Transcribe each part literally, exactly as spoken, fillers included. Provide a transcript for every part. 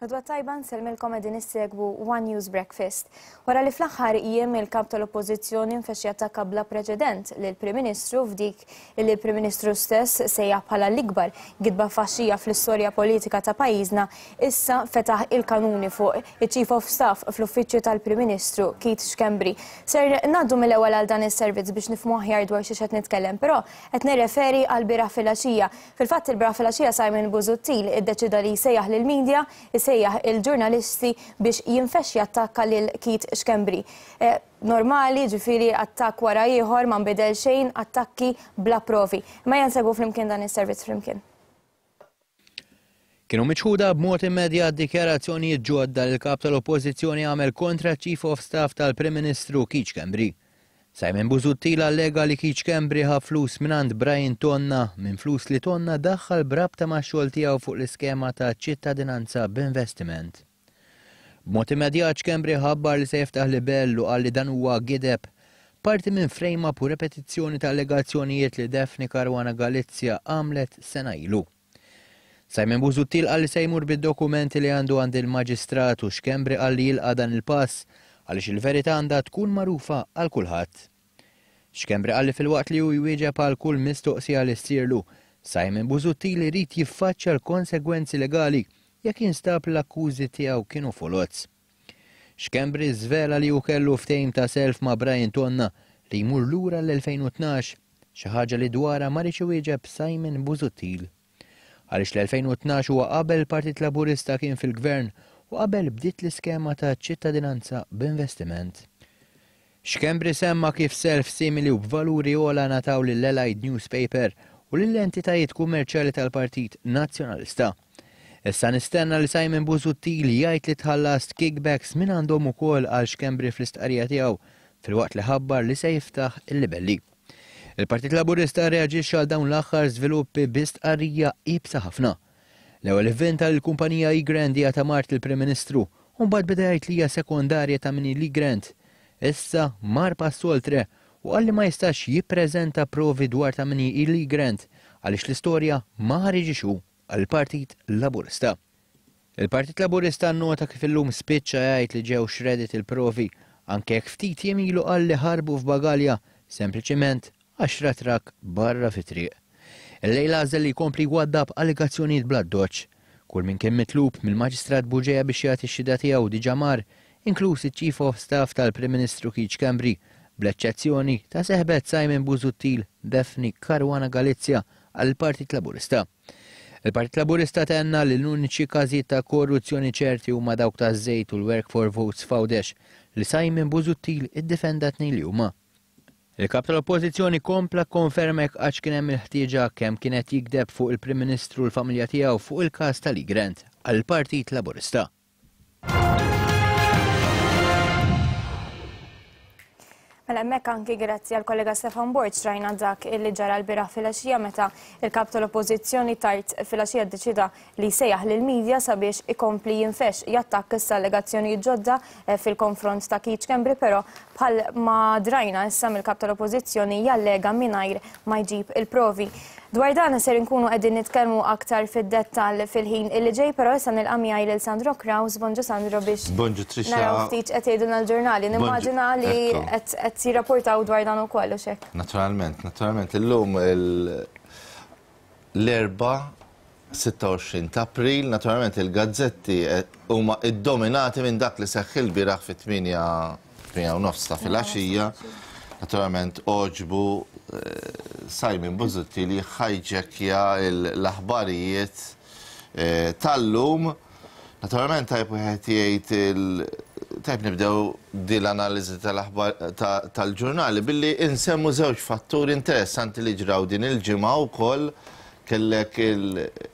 L-għodwa t-tajba, nsellmilkom, qegħdin issegwu One News Breakfast. Wara li fl-aħħar jiem il-kap tal-Oppożizzjoni nfexx jattakka bla preċedent lill-Prim Ministru f'dik li l-Prim Ministru stess sejjaħ bħala l-ikbar gidba faxxija fl-istorja politika ta' pajjiżna, issa fetaħ il-kanuni fuq il-Chief of Staff fl-Uffiċċju tal-Prim Ministru, Keith Schembri. Ser ngħaddu mill-ewwel għal dan is-servizz biex nifhmu aħjar dwar xi qed nitkellem, però qed nirreferi għal bieraħ filgħaxija. Fil-fatt, il-bieraħ filgħaxija Simon Busuttil iddeċida li jsejjaħ lill-media, isejjaħ il-ġurnalisti biex jinfex jattakka lil Keith Schembri. Eh, normali, ġifieri attakk wara ieħor, ma nbidel xejn, attakki bla provi. Ma nsegwu flimkien dan is-servizz flimkien. Kienu miċħuda b'mod immedjat dikjarazzjonijiet ġodda li l-kap tal-Oppożizzjoni għamel kontra Chief of Staff tal-Prim Ministru Keith Schembri. Simon Busuttil allega li Keith Schembri ħa flus mingħand Brian Tonna, minn flus li Tonna daħħal b'rabta ma' xogħol tiegħu fuq l-iskema ta' ċittadinanza b'investiment. B'mod immedjat Schembri ħabbar li se jiftaħ libell u qal li dan huwa gideb, parti minn frame-up u repetizzjoni ta' allegazzjonijiet li Daphne Caruana Galizia għamlet sena ilu. Simon Busuttil qal li se jmur bid-dokumenti li għandu għand il-maġistrat u Schembri qal li jilqa' dan il-pass għaliex il-verità għandha tkun magħrufa għal kulħadd. Schembri qal li filwaqt li hu jwieġeb għal kull mistoqsija li ssirlu, Simon Busuttil irid jiffaċċja l-konsegwenzi legali jekk jinstab l-akkużi tiegħu kienu foloz. Schembri żvela li hu kellu ftehim ta' self ma' Brian Tonna li jmur lura l-elfejn u tnax, xi ħaġa li dwarha ma riedx iwieġeb Simon Busuttil, għaliex l-elfejn u tnax huwa qabel il-Partit Laburista kien fil-gvern u qabel bdiet l-iskema ta' ċittadinanza b'investiment. Schembri semma kif self simili u b'valuri ogħla ngħataw lill-Allied Newspaper u lill-entitajiet kummerċjali tal-Partit Nazzjonalista. "Issa nistenna li Simon Busuttil jgħid li tħallast kickbacks minn għandhom ukoll," qal Schembri fl-istqarrija tiegħu, filwaqt li ħabbar li se jiftaħ il-libelli. Il-Partit Laburista reaġixxa għal dawn l-aħħar żviluppi bi stqarrija iebsa ħafna. L-ewwel ivvinta l-kumpanija Egrant hija ta' mart il-Prim Ministru u mbagħad beda jgħid li hija sekondarja ta' min l-Egrant. Issa mar pass oltre u qal li ma jistax jippreżenta provi dwar ta' min l-Egrant għaliex l-istorja ma ħariġix hu għall-Partit Laburista. Il-Partit Laburista nota kif illum spiċċa jgħid li ġew shredded il-provi, anke jekk ftit jiem ilu qal li ħarbu f'bagalja sempliċiment għax ra trakk barra fit-triq. Illejla għażel li jkompli jwaddab allegazzjonijiet bla doċ. Kull min kien mitlub mill-Maġistrat Bugeja biex jagħti x-xhieda tiegħu diġà mar, inkluż iċ-Chief of Staff tal-Prim Ministru Keith Schembri, bl-eċċezzjoni ta' seħbet Simon Busuttil, Daphne Caruana Galizia, għall-Partit Laburista. Il-Partit Laburista tenna li l-uniċi każijiet ta' korruzzjoni ċerti huma dawk ta' żejt u l-Work for Votes f'Għawdex, li Simon Busuttil iddefenda tnejn li huma. Il-kap tal-Oppożizzjoni kompla konferma jekk għax kien hemm il-ħtieġa kemm kienet jikdeb fuq il-Prim Ministru u l-familja tiegħu fuq il-każ tal-Egrant għall-Partit Laburista. Mela hemmhekk, anki grazzi għal kollega Stefan Borg, rajna dak illi ġara l-bieraħ filgħaxija meta il-kap tal-Oppożizzjoni tard filgħaxija ddeċida li sejjaħ lill-media sabiex ikompli jinfex jattakka issa allegazzjonijiet ġodda eh, fil-konfront ta' Keith Schembri, però bħal ma drajna issa mill-kap tal-Oppożizzjoni jallega mingħajr ma jġib il-provi. Dwar dan ser inkunu qegħdin nitkellmu aktar fid-dettall fil-ħin illi ġej, però issa nilqa' miegħi lil Sandro Kraus. Bonġu Sandro, biex Bonġu Trisha. naraw ftit qed jgħidulna l-ġurnali. Nimmaġina li Ekku. qed qed jirrapportaw dwar dan ukoll u xek. Naturalment, naturalment, illum il- l-Erbgħa sitta u għoxrin ta' April, naturalment il-gazzetti eh, huma iddominati minn dak li seħħ il-bieraħ fit-tmienja u nofs ta' filgħaxija. Naturalment għoġbu eh, Simon Busuttil li ħajġekja l-aħbarijiet eh, tal-lum. Naturalment tajb wieħed jgħid il- tajb nibdew din l-analiżi tal-aħbar ta- tal-ġurnali billi insemmu żewġ fatturi interessanti li ġraw din il-ġimgħa wkoll. Kellek il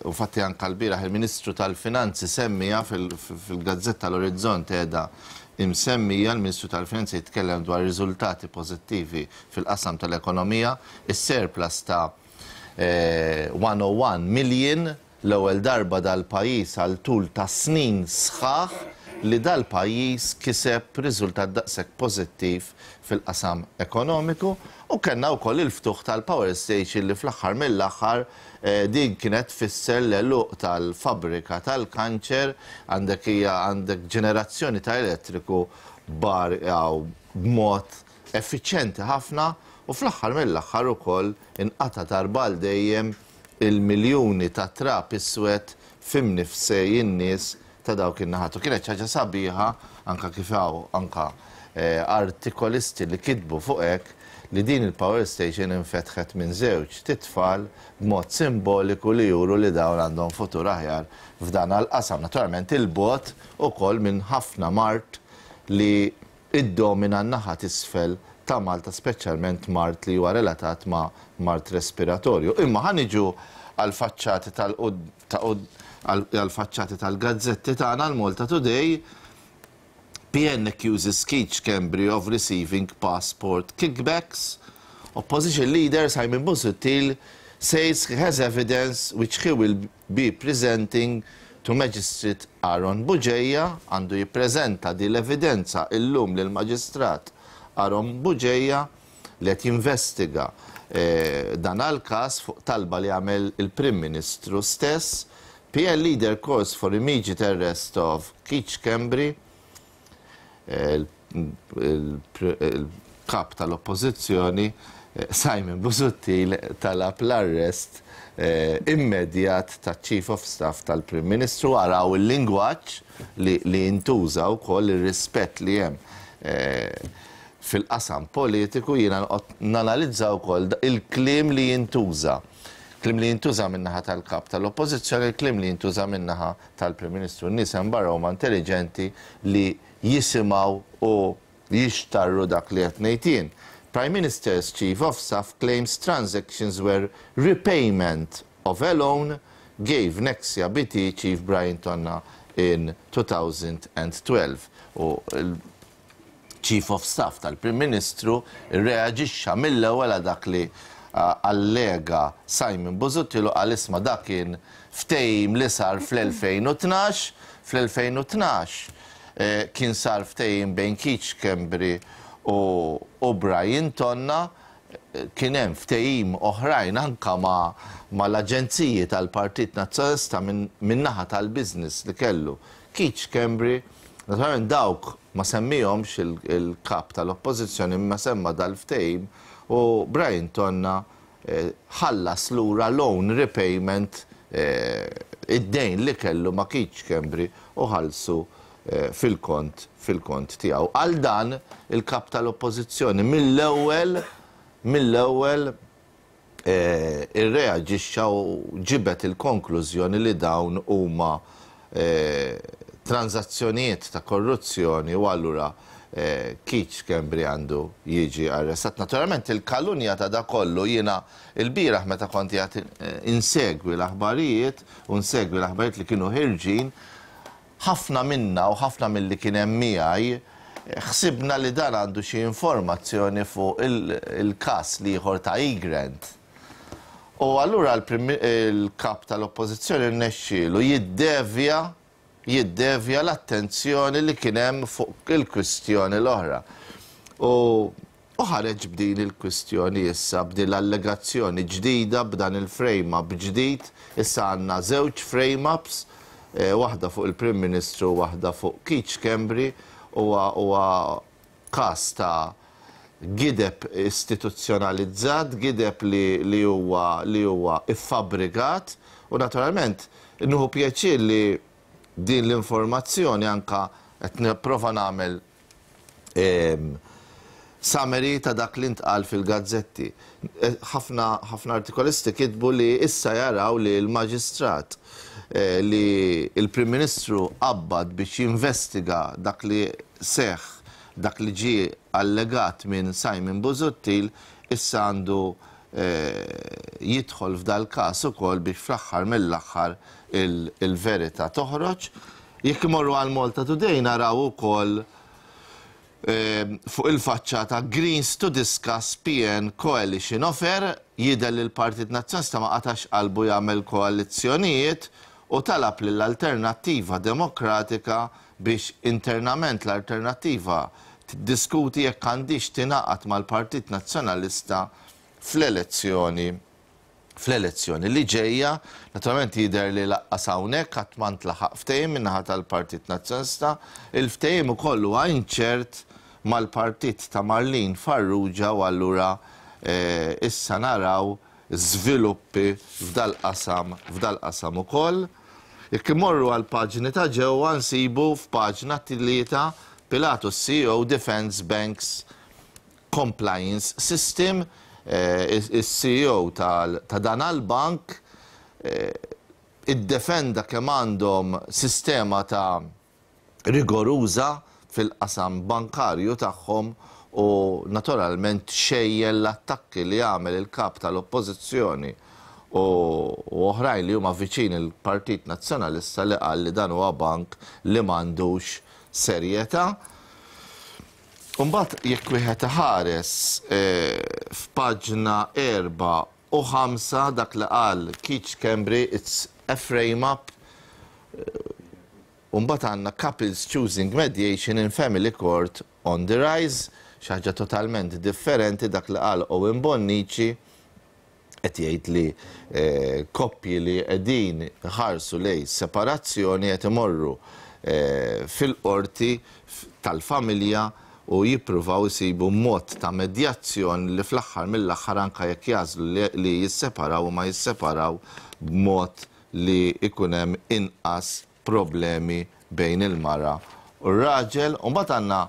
infatti anka l-bieraħ il-Ministru tal-Finanzi semmija fil- fil-Gazzetta l-Orizzont, qiegħda imsemmija, l-Ministru tal-Finanzi jitkellem dwar riżultati pożittivi fil-qasam tal-ekonomija, is-surplus ta' eh, mija u wieħed million, l-ewwel darba dal-pajjiż għal tul ta' snin sħaħ li dal-pajjiż kiseb riżultat daqshekk pożittiv fil-qasam ekonomiku, u kellna wkoll il-ftuħ tal-power station li fl-aħħar mill-aħħar eh, din kienet tfisser l-għeluq tal-fabrika tal-kanċer. Għandek hija għandek ġenerazzjoni ta' elettriku bar b'mod effiċjenti ħafna, u fl-aħħar mill-aħħar ukoll inqata' darba dejjem il-miljuni ta' trab iswed f'imnifsejn in-nies ta' dawk in-naħat. U kienet ħaġa sabiħa anka kif hawn anka eh, artikolisti li kitbu fuq hekk li din il-power station infetħet minn żewġ titfal b'mod simboliku li juru li dawn għandhom futur aħjar f'dan għal-qasam. Naturalment il-bogħod ukoll minn ħafna mard li iddomina n-naħa t'isfel ta' Malta, speċjalment mard li huwa relatat ma' mard respiratorju. Imma ħa niġu għal-faċċati tal għal-faċċati tal-gazzetti tagħna. L-Malta Today: P N accuses Keith Schembri of receiving passport kickbacks. Opposition leader Simon Busuttil says he has evidence which he will be presenting to Magistrate Aaron Bugeja. Għandu jippreżenta di l-evidenza illum lil maġistrat Aaron Bugeja li qed jinvestiga eh, dan għal-każ fuq talba li għamel il-Prim Ministru stess. P N leader calls for immediate arrest of Keith Schembri. Il-kap tal-oppożizzjoni eh, Simon Busuttil talab l-arrest eh, immedjat ta' Chief of Staff tal-Prim Ministru. Araw il-lingwaġġ li, li jintuża wkoll, ir-rispett li hemm eh, fil-qasam politiku. Jiena nanalizza wkoll il-kliem li jintuża. Kliem li jintuża min-naħa tal-kap tal-oppożizzjoni, il-kliem li jintuża min-naħa tal-Prim Ministru. N-nies hemm barra huma intelligenti li jisimgħu u jixtarru dak li qed ngħid jien. Prime Minister's Chief of Staff claims transactions were repayment of a loan gave Nexia B T Chief Brian Tonna in twenty twelve. U il-Chief of Staff tal-Prim Ministru reaġixxa mill-ewwel għal dak li uh, allega Simon Busuttil u qal, "Isma', dak kien ftehim li sar fl-elfejn u tnax" Fl-elfejn u tnax eh, kien sar ftehim bejn Keith Schembri u, u Brian Tonna. eh, kien hemm ftehim oħrajn anka ma, ma l-aġenziji tal-Partit Nazzjonalista minn min naħa tal-business li kellu Keith Schembri. Naturalment dawk ma semmihomx il-kap tal-oppożizzjoni, imma semma dal-ftehim u Brian Tonna eh, ħallas lura loan repayment, eh, id-dejn li kellu ma' Keith Schembri, u ħallsu eh, fil-kont fil-kont tiegħu. Għal dan il-kap tal-oppożizzjoni mill-ewwel mill-ewwel eh, irreaġixxa u ġibet il-konklużjoni li dawn huma eh, tranzazzjonijiet ta' korruzzjoni u allura eh, Keith Schembri għandu jiġi arrestat. Naturalment il-kalunja ta' da kollu, jiena il-bieraħ meta kont qiegħed insegwi l-aħbarijiet u nsegwi l-aħbarijiet li kienu ħirġin, ħafna minna u ħafna mill-li kien hemm miegħi ħsibna li dan għandu xi informazzjoni fuq il-każ l-ieħor ta' Egrant. U allura il-kap tal-oppożizzjoni rnexxielu jiddevja jiddevja l-attenzjoni li kien hemm fuq il-kwistjoni l-oħra. U u ħareġ b'din il-kwistjoni issa, b'din l-allegazzjoni ġdida, b'dan il-frame-up ġdid. Issa għandna żewġ frame-ups, eh, waħda fuq il-Prim Ministru u waħda fuq Keith Schembri. Huwa każ ta' gideb istituzzjonalizzat, gideb li, li huwa li huwa iffabrikat, u naturalment nieħu pjaċir li din l-informazzjoni anka qed nipprova nagħmel em, summary ta' dak li ntqal fil-gazzetti. Eh, ħafna ħafna artikolisti kitbu li issa jaraw li l-maġistrat eh, li il-Prim Ministru qabbad biex jinvestiga dak li seħ, dak li ġie allegat minn Simon Busuttil, issa għandu eh, jidħol f'dal każ ukoll biex fl-aħħar mill-aħħar il-verità toħroġ. Jekk imorru għal Malta Today naraw ukoll eh, fuq il-faċċata "Greens to discuss P N Coalition Offer". Jidher li l-Partit Nazzjonalista ma qatax qalbu jagħmel koalizzjonijiet u talab lill-Alternattiva Demokratika biex biex internament l-Alternattiva tiddiskuti jekk għandix tingħaqad mal-Partit Nazzjonalista fl-elezzjoni fl-elezzjoni li ġejja. Naturalment jidher li lanqas hawnhekk qatt ma ntlaħaq ftehim min-naħa tal-Partit Nazzjonalista. Il-ftehim ukoll huwa inċert mal-partit ta' Marlene Farrugia u allura eh, issa naraw żviluppi f'dal-qasam f'dal-qasam ukoll. Jekk imorru għal paġni ta' ġewwa, nsibu f'paġna tlieta Pilatus C E O defends bank's compliance system, eh, il-C E O ta' dan il-bank eh, iddefenda kemm għandhom sistema ta' rigoruża fil-qasam bankarju tagħhom u naturalment xejjel l-attakki li għamel il-kap tal-oppożizzjoni u oħrajn li huma viċin il-Partit Nazzjonalista, li qal li dan huwa bank li m'għandux serjetà. Umbagħad jekk wieħed ħares eh, f'paġna erba' u ħamsa, dak li qal Keith Schembri, "It's a frame up." Umbagħad għandna "Couples choosing mediation in family court on the rise", xi ħaġa totalment differenti, dak li qal Owen Bonnici, qed jgħid li eh, koppji li qegħdin ħarsu lej separazzjoni qed imorru eh, fil-qorti tal-familja u jippruvaw isibu mod ta' medjazzjoni li fl-aħħar mill-aħħar, anka jekk jagħżlu li jisseparaw, u ma jisseparaw b'mod li ikun hemm inqas problemi bejn il-mara u r-raġel. U mbagħad għandna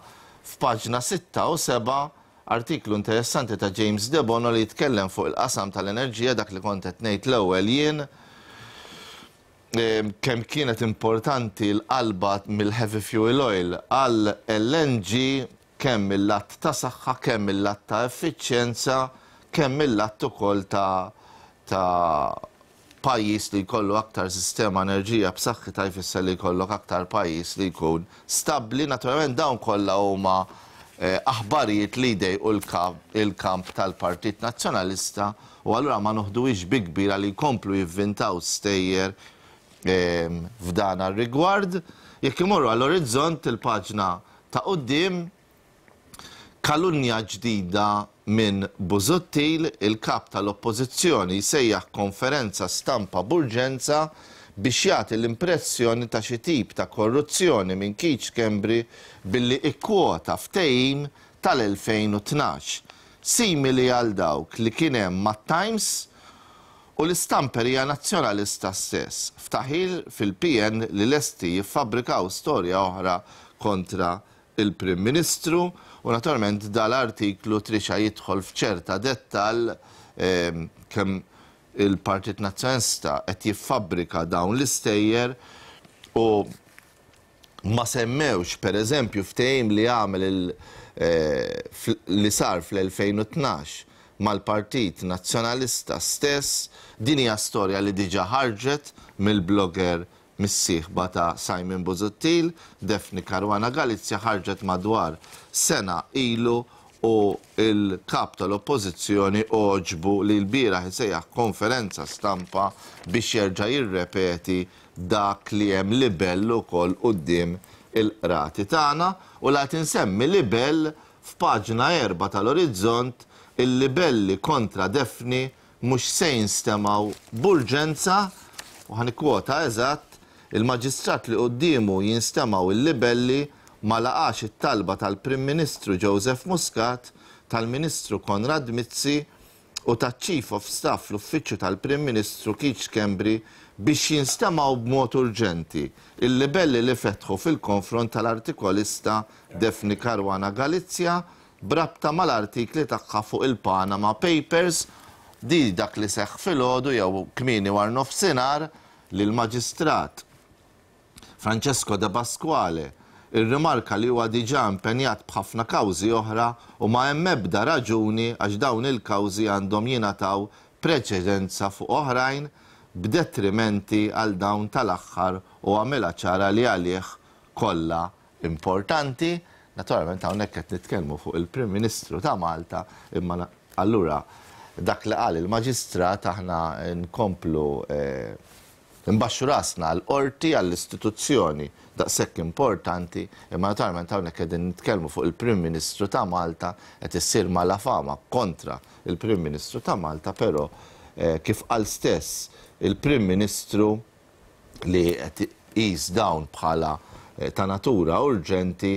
f'paġna sitta u seba' artiklu interessanti ta' James Debono li jitkellem fuq il-qasam tal-enerġija, dak li kont qed ngħid l-ewwel jien, kemm kienet importanti l-qalba mill-heavy fuel oil għal L N G, kemm mill-lat ta' saħħa, kemm mill-lat ta' effiċjenza, kemm mill-lat ukoll ta' ta' pajjiż li jkollu aktar sistema enerġija b'saħħitha jfisser li jkollok aktar pajjiż li jkun stabbli. Naturalment dawn kollha huma eh, aħbarijiet li jdejqu il-kamp tal-Partit Nazzjonalista u allura ma noħduhiex bi kbira li jkomplu jivvintaw stejjer ehm, f'dan ar-rigward. Jekk imorru għall-Orizzont, il-paġna ta' quddiem, kalunja ġdida minn Busuttil, il-kap tal-oppożizzjoni jsejjaħ konferenza stampa b'urġenza biex jagħti l-impressjoni ta' xi tip ta' korruzzjoni minn Keith Schembri billi ikkwota ftehim tal-elfejn u tnax, simili għal dawk li kien hemm mat-Times u l-istamperija nazzjonalista stess. Ftaħir fil-P N li lesti jiffabbrikaw storja oħra kontra il-Prim Ministru. U naturalment dal-artiklu trixa jidħol f'ċerta dettal ehm, kemm il-Partit Nazzjonalista qed jiffabbrika dawn l-istejjer u ma semmewx, per eżempju, ftehim li għamel il- eh, li sar fl-elfejn u tnax mal-Partit Nazzjonalista stess. Din hija storja li diġa ħarġet mill-blogger mis-sieħba ta' Simon Busuttil, Daphne Caruana Galizia, ħarġet madwar sena ilu u il-kap tal-oppożizzjoni għoġbu li l-bieraħ isejjaħ konferenza stampa biex jerġa' jirrepeti dak li hemm libell ukoll quddiem il-qrati tagħna. U la tinsemmi libell, f'paġna erba' tal-Orizzont, il-libelli kontra Daphne mhux se jinstemgħu b'urġenza, u ħa nikkwota eżatt: "Il-maġistrat li quddiemu jinstemgħu il-libelli ma laqax it-talba tal-Prim Ministru Joseph Muscat, tal-Ministru Konrad Mizzi u taċ-Chief of Staff l-Uffiċċju tal-Prim Ministru Keith Schembri biex jinstemgħu b'mod urġenti il-libelli li fetħu fil-konfront tal-artikolista Daphne Caruana Galizia b'rabta mal-artikli tagħha fuq il-Panama Papers." Di dak li seħħ filgħodu jew kmieni war nofsinhar, li l-maġistrat Francesco De Pasquale irrimarka li huwa diġà impenjat b'ħafna kawżi oħra u ma hemm ebda raġuni għax dawn il-kawżi għandhom jingħataw preċedenza fuq oħrajn b'detrimenti għal dawn tal-aħħar, u għamilha ċara li għalih kollha importanti. Naturalment hawnhekk qed nitkellmu fuq il-Prim Ministru ta' Malta, imma allura dak li qal il-maġistrat aħna nkomplu eh, Imbaxxu rasna għall-qorti, għall-istituzzjoni daqshekk importanti, imma naturalment hawnhekk qegħdin nitkellmu fuq il-Prim Ministru ta' Malta, qed issir malafama kontra il-Prim Ministru ta' Malta, però kif qal stess il-Prim Ministru li qed iqis dawn bħala ta' natura urġenti,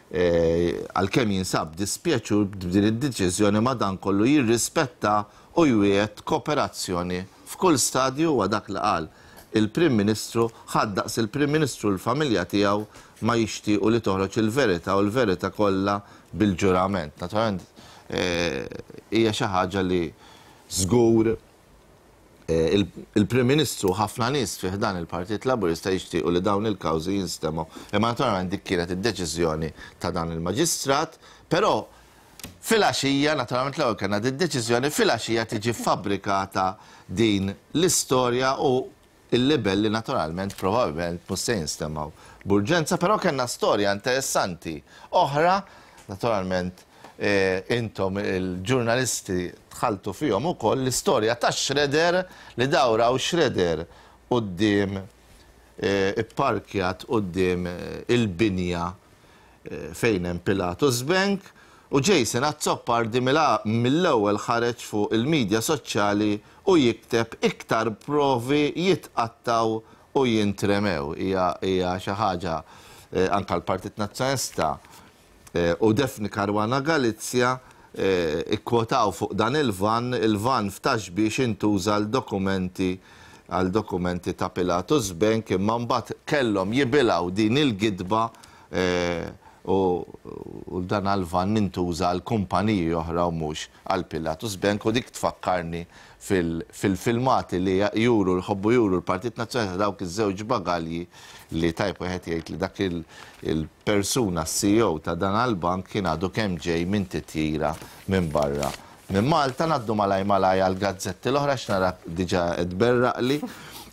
għalkemm jinsab dispjaċur b'din id-deċiżjoni, madankollu jirrispetta u jwiegħed kooperazzjoni f'kull stadju. Huwa dak li qal il-Prim Ministru. Ħadd daqs il-Prim Ministru, l-familja tiegħu, ma jixtiequ li toħroġ il-verità u l-verità kollha bil-ġurament. Naturalment hija xi ħaġa li żgur il-Prim Ministru, ħafna nies fih dan il-Partit Laburista jixtiequ li dawn il-kawżi jinstemgħu. Imma naturalment dik kienet id-deċiżjoni ta' dan il-maġistrat, però filgħaxija, naturalment l-ewwel kellna id-deċiżjoni, filgħaxija tiġi fabbrikata din l-istorja u il-libelli naturalment probabbilment mhux se jinstemgħu b'urġenza, però kellna storja interessanti oħra, naturalment intom il-ġurnalisti dħaltu fihom ukoll, l-istorja ta' shredder li dawra u shredder quddiem, ipparkjat quddiem il-binja fejn hemm Pilatus Bank, u Jason Azzopardi mill-ewwel ħareġ fuq il-medja soċjali u jikteb "iktar provi jitqattaw u jintremew". Hija xi ħaġa anka l-Partit Nazzjonalista u Daphne Caruana Galizia ikkwotaw fuq dan il-van, il-van ftax biex intuża l-dokumenti għal dokumenti ta' Pilatus Bank, imma mbagħad kellhom jibilgħu din il-gidba u dan għal-van intuża għal kumpaniji oħra u mhux għal Pilatus Bank. U dik tfakkarni fil-filmati li juru, jħobbu juru l-Partit Nazzjonalista, dawk iż-żewġ bagalji li tajb wieħed jgħid li dak il-persuna C E O ta' dan għal-bank kien għadu kemm ġej minn titjira minn barra minn Malta. Ngħaddu malaj malaj għal gazzetti l-oħra, x'nara diġà tberraqli.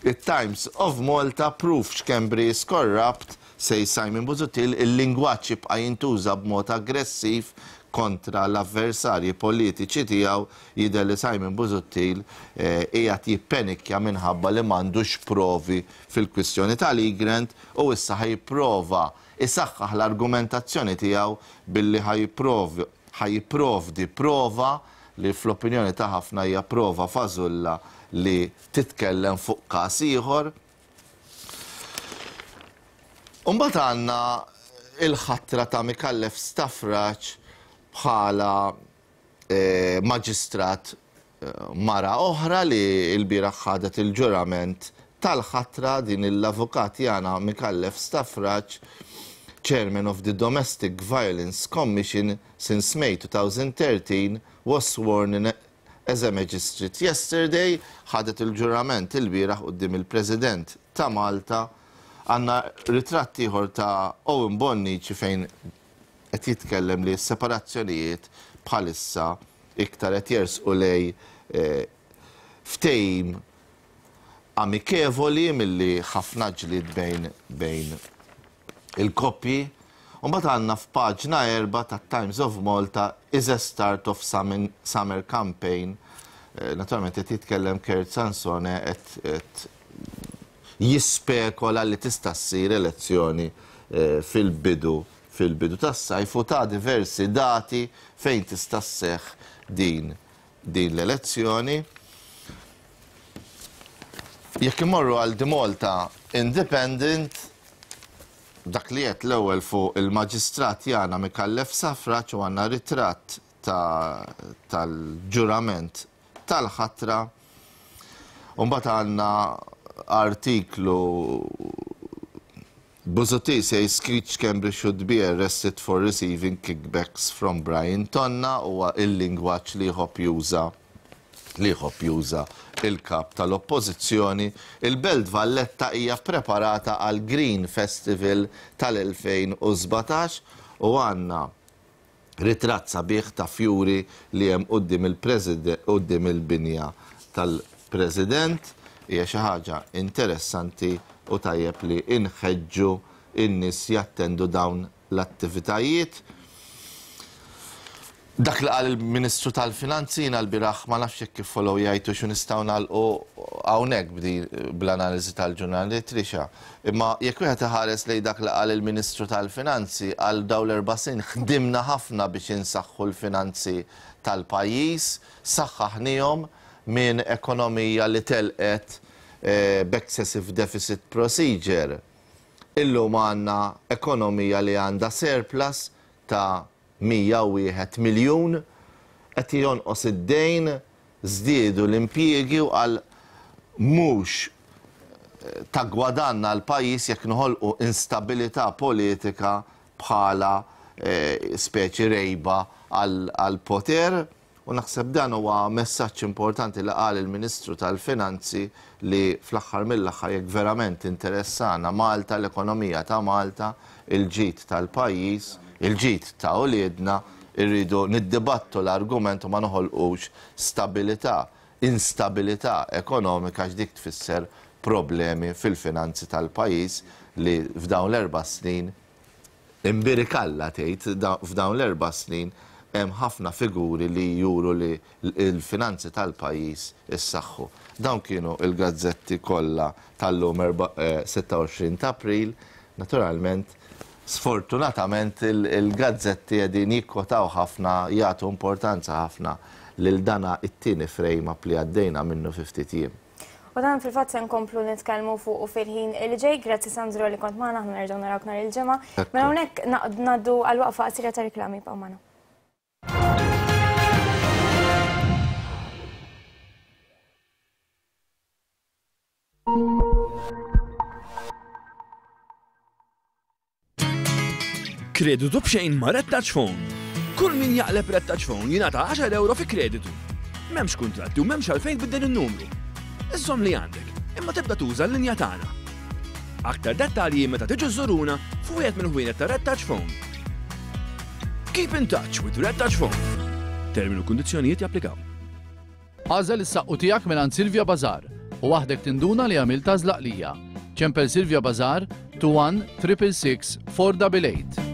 Il-Times of Malta, "Proof Schembri is corrupt", say Simon Busuttil. Il-lingwaġġ jibqa' jintuża b'mod aggressiv kontra l-avversarji politiċi tiegħu. Jidher li Simon Busuttil qiegħed jippenikja minħabba li m'għandux provi fil-kwistjoni tal-Egrant u issa ħa jipprova isaħħaħ l-argumentazzjoni tiegħu billi ħa jipprovdi prova li fl-opinjoni ta' ħafna hija prova fażulla li titkellem fuq każ ieħor. Umbagħad għandna il-ħatra ta' Micallef Stafrace bħala eh, maġistrat eh, mara oħra li l-bieraħ ħadet il-ġurament tal-ħatra. Din l-avukat Yana Micallef Stafrace, Chairman of the Domestic Violence Commission since May twenty thirteen, was sworn in as a magistrate yesterday. Ħadet il-ġurament il-bieraħ quddiem il-President ta' Malta. Għandna ritratt ieħor ta' Owen Bonnici fejn qed jitkellem li s-separazzjonijiet bħalissa iktar qed jersqu lejn eh, ftehim amikevoli milli ħafna ġlid bejn bejn il-koppji. Umbagħad għandna f'paġna erba ta' Times of Malta, "Is a start of summer campaign". Eh, naturalment qed jitkellem Kurt Sansone, qed jispekola li tista' ssir elezzjoni eh, fil-bidu fil-bidu tas-sajf u ta' diversi dati fejn tista' sseħħ din din l-elezzjoni. Jekk imorru għal The Malta Independent, dak li qed l-ewwel fuq il-maġistrat Yana Micallef Stafrace u għandna ritratt tal-ġurament tal-ħatra. Umbagħad għandna artiklu, "Busuttil says Keith Schembri should be arrested for receiving kickbacks from Brian Tonna". Huwa il-lingwaġġ li jħobb juża li jħobb juża il-kap tal-Oppożizzjoni. Il-Belt Valletta hija preparata għal Green Festival tal-elfejn u sbatax u għandna ritratt sabiħ ta' fjuri li hemm quddiem il-President, quddiem il-binja tal-President. Hija xi ħaġa interessanti u tajjeb li inħeġġu in-nies jattendu dawn l-attivitajiet. Dak li qal il-Ministru tal-Finanzi jiena l-bieraħ ma nafx jekk kif follow jgħidu xu nistgħu nagħlqu hawnhekk bdi bl-analiżi tal-ġurnali Trisha. Imma jekk wieħed iħares lejn dak li qal il-Ministru tal-Finanzi għal dawn l-erba' snin ħdimna ħafna biex insaħħu l-finanzi tal-pajjiż, saħħaħnihom minn ekonomija li telqet b'excessive deficit procedure. Illum għandna ekonomija li għandha surplus ta' mija u wieħed miljun, qed jonqos id-dejn, żdiedu l-impjiegi u għal mhux ta' gwadanna l-pajjiż jekk noħolqu instabilità politika bħala speċi rejba għal poter. U naħseb dan huwa messaġġ importanti li qal il-Ministru tal-Finanzi li fl-aħħar mill-aħħar jekk verament interessana Malta, l-ekonomija ta' Malta, il-ġid tal-pajjiż, il-ġid ta' uliedna, irridu niddibattu l-argument u ma noħolqux stabilità, instabilità ekonomika x'dik tfisser problemi fil-finanzi tal-pajjiż li f'dawn l-erba' snin imbirikalla tgħid f'dawn l-erba' snin hemm ħafna figuri li juru li l-finanzi tal-pajjiż issaħħu. Dawn kienu il-gazzetti kollha tal-lum sitta u għoxrin ta' April. Naturalment, sfortunatament il-gazzetti qegħdin jikkwotaw ħafna, jagħtu importanza ħafna lil dana it-tieni frame up li għaddejna minnu fi ftit jiem. U dan fil-fatt se nkomplu nitkellmu fuq u fil-ħin li ġej. Grazzi Sandro li kont magħna, aħna nerġgħu narawk nhar il-ġimgħa. Mela hawnhekk ngħaddu għal waqfa qasira ta' riklami, ibqgħu magħna. Kreditu b'xejn ma' Red Touch Phone. Kull min jaqleb Red Touch Phone jingħata għaxar euro fi kreditu. M'hemmx kuntratti u m'hemmx għalfejn tbiddel in-numru. Iżżomm li għandek, imma tibda tuża l-linja tagħna. Aktar dettalji meta tiġu żuruna f'wieħed mill-ħwienet ta' Red Touch Phone. Keep in touch with Red Touch Phone. Terminu u kundizzjonijiet japplikaw. Għażel is-saqqu tiegħek mingħand Silvia Bazar u waħdek tinduna li għamilt għażla qlija. Ċempel Silvia Bazar two one triple six four double eight.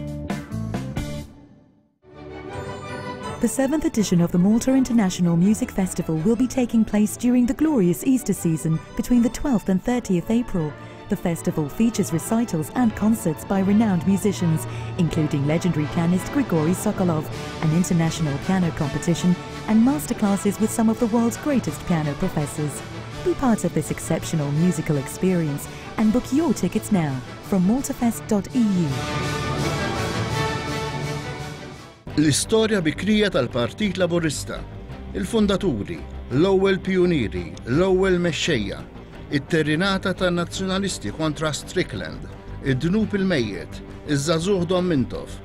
The seventh edition of the Malta International Music Festival will be taking place during the glorious Easter season between the twelfth and thirtieth April. The festival features recitals and concerts by renowned musicians, including legendary pianist Grigory Sokolov, an international piano competition, and masterclasses with some of the world's greatest piano professors. Be part of this exceptional musical experience and book your tickets now from maltafest dot E U. L-istorja bikrija tal-Partit Laburista, il-fondaturi, l-ewwel pioniri, l-ewwel mexxejja, it-terrinata tan-nazzjonalisti kontra Strickland, id-dnub il-mejjet, iż-żagħżugħ Dom Mintoff.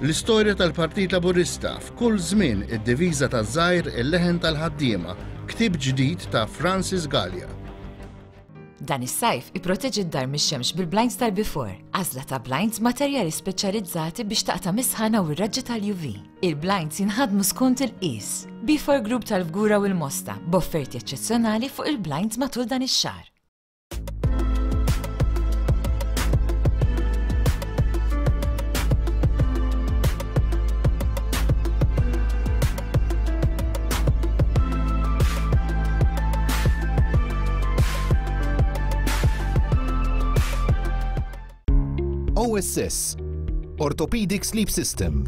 L-istorja tal-Partit Laburista f'kull żmien id-diviża taż-żgħir il-leħen tal-ħaddiema, ktieb ġdid ta' Francis Gallia. Dan is-sajf ipproteġi d-dar mix-xemx bil-blinds tal-Before, għażla ta' blinds materjali speċjalizzati biex taqta' mis-sħana u r-raġġi tal-U V. Il-blinds jinħadmu skont il-qies. Before Group tal-Fgura u l-Mosta, b'offerti eċċezzjonali fuq il-blinds matul dan ix-xahar. O S S, Orthopedic Sleep System.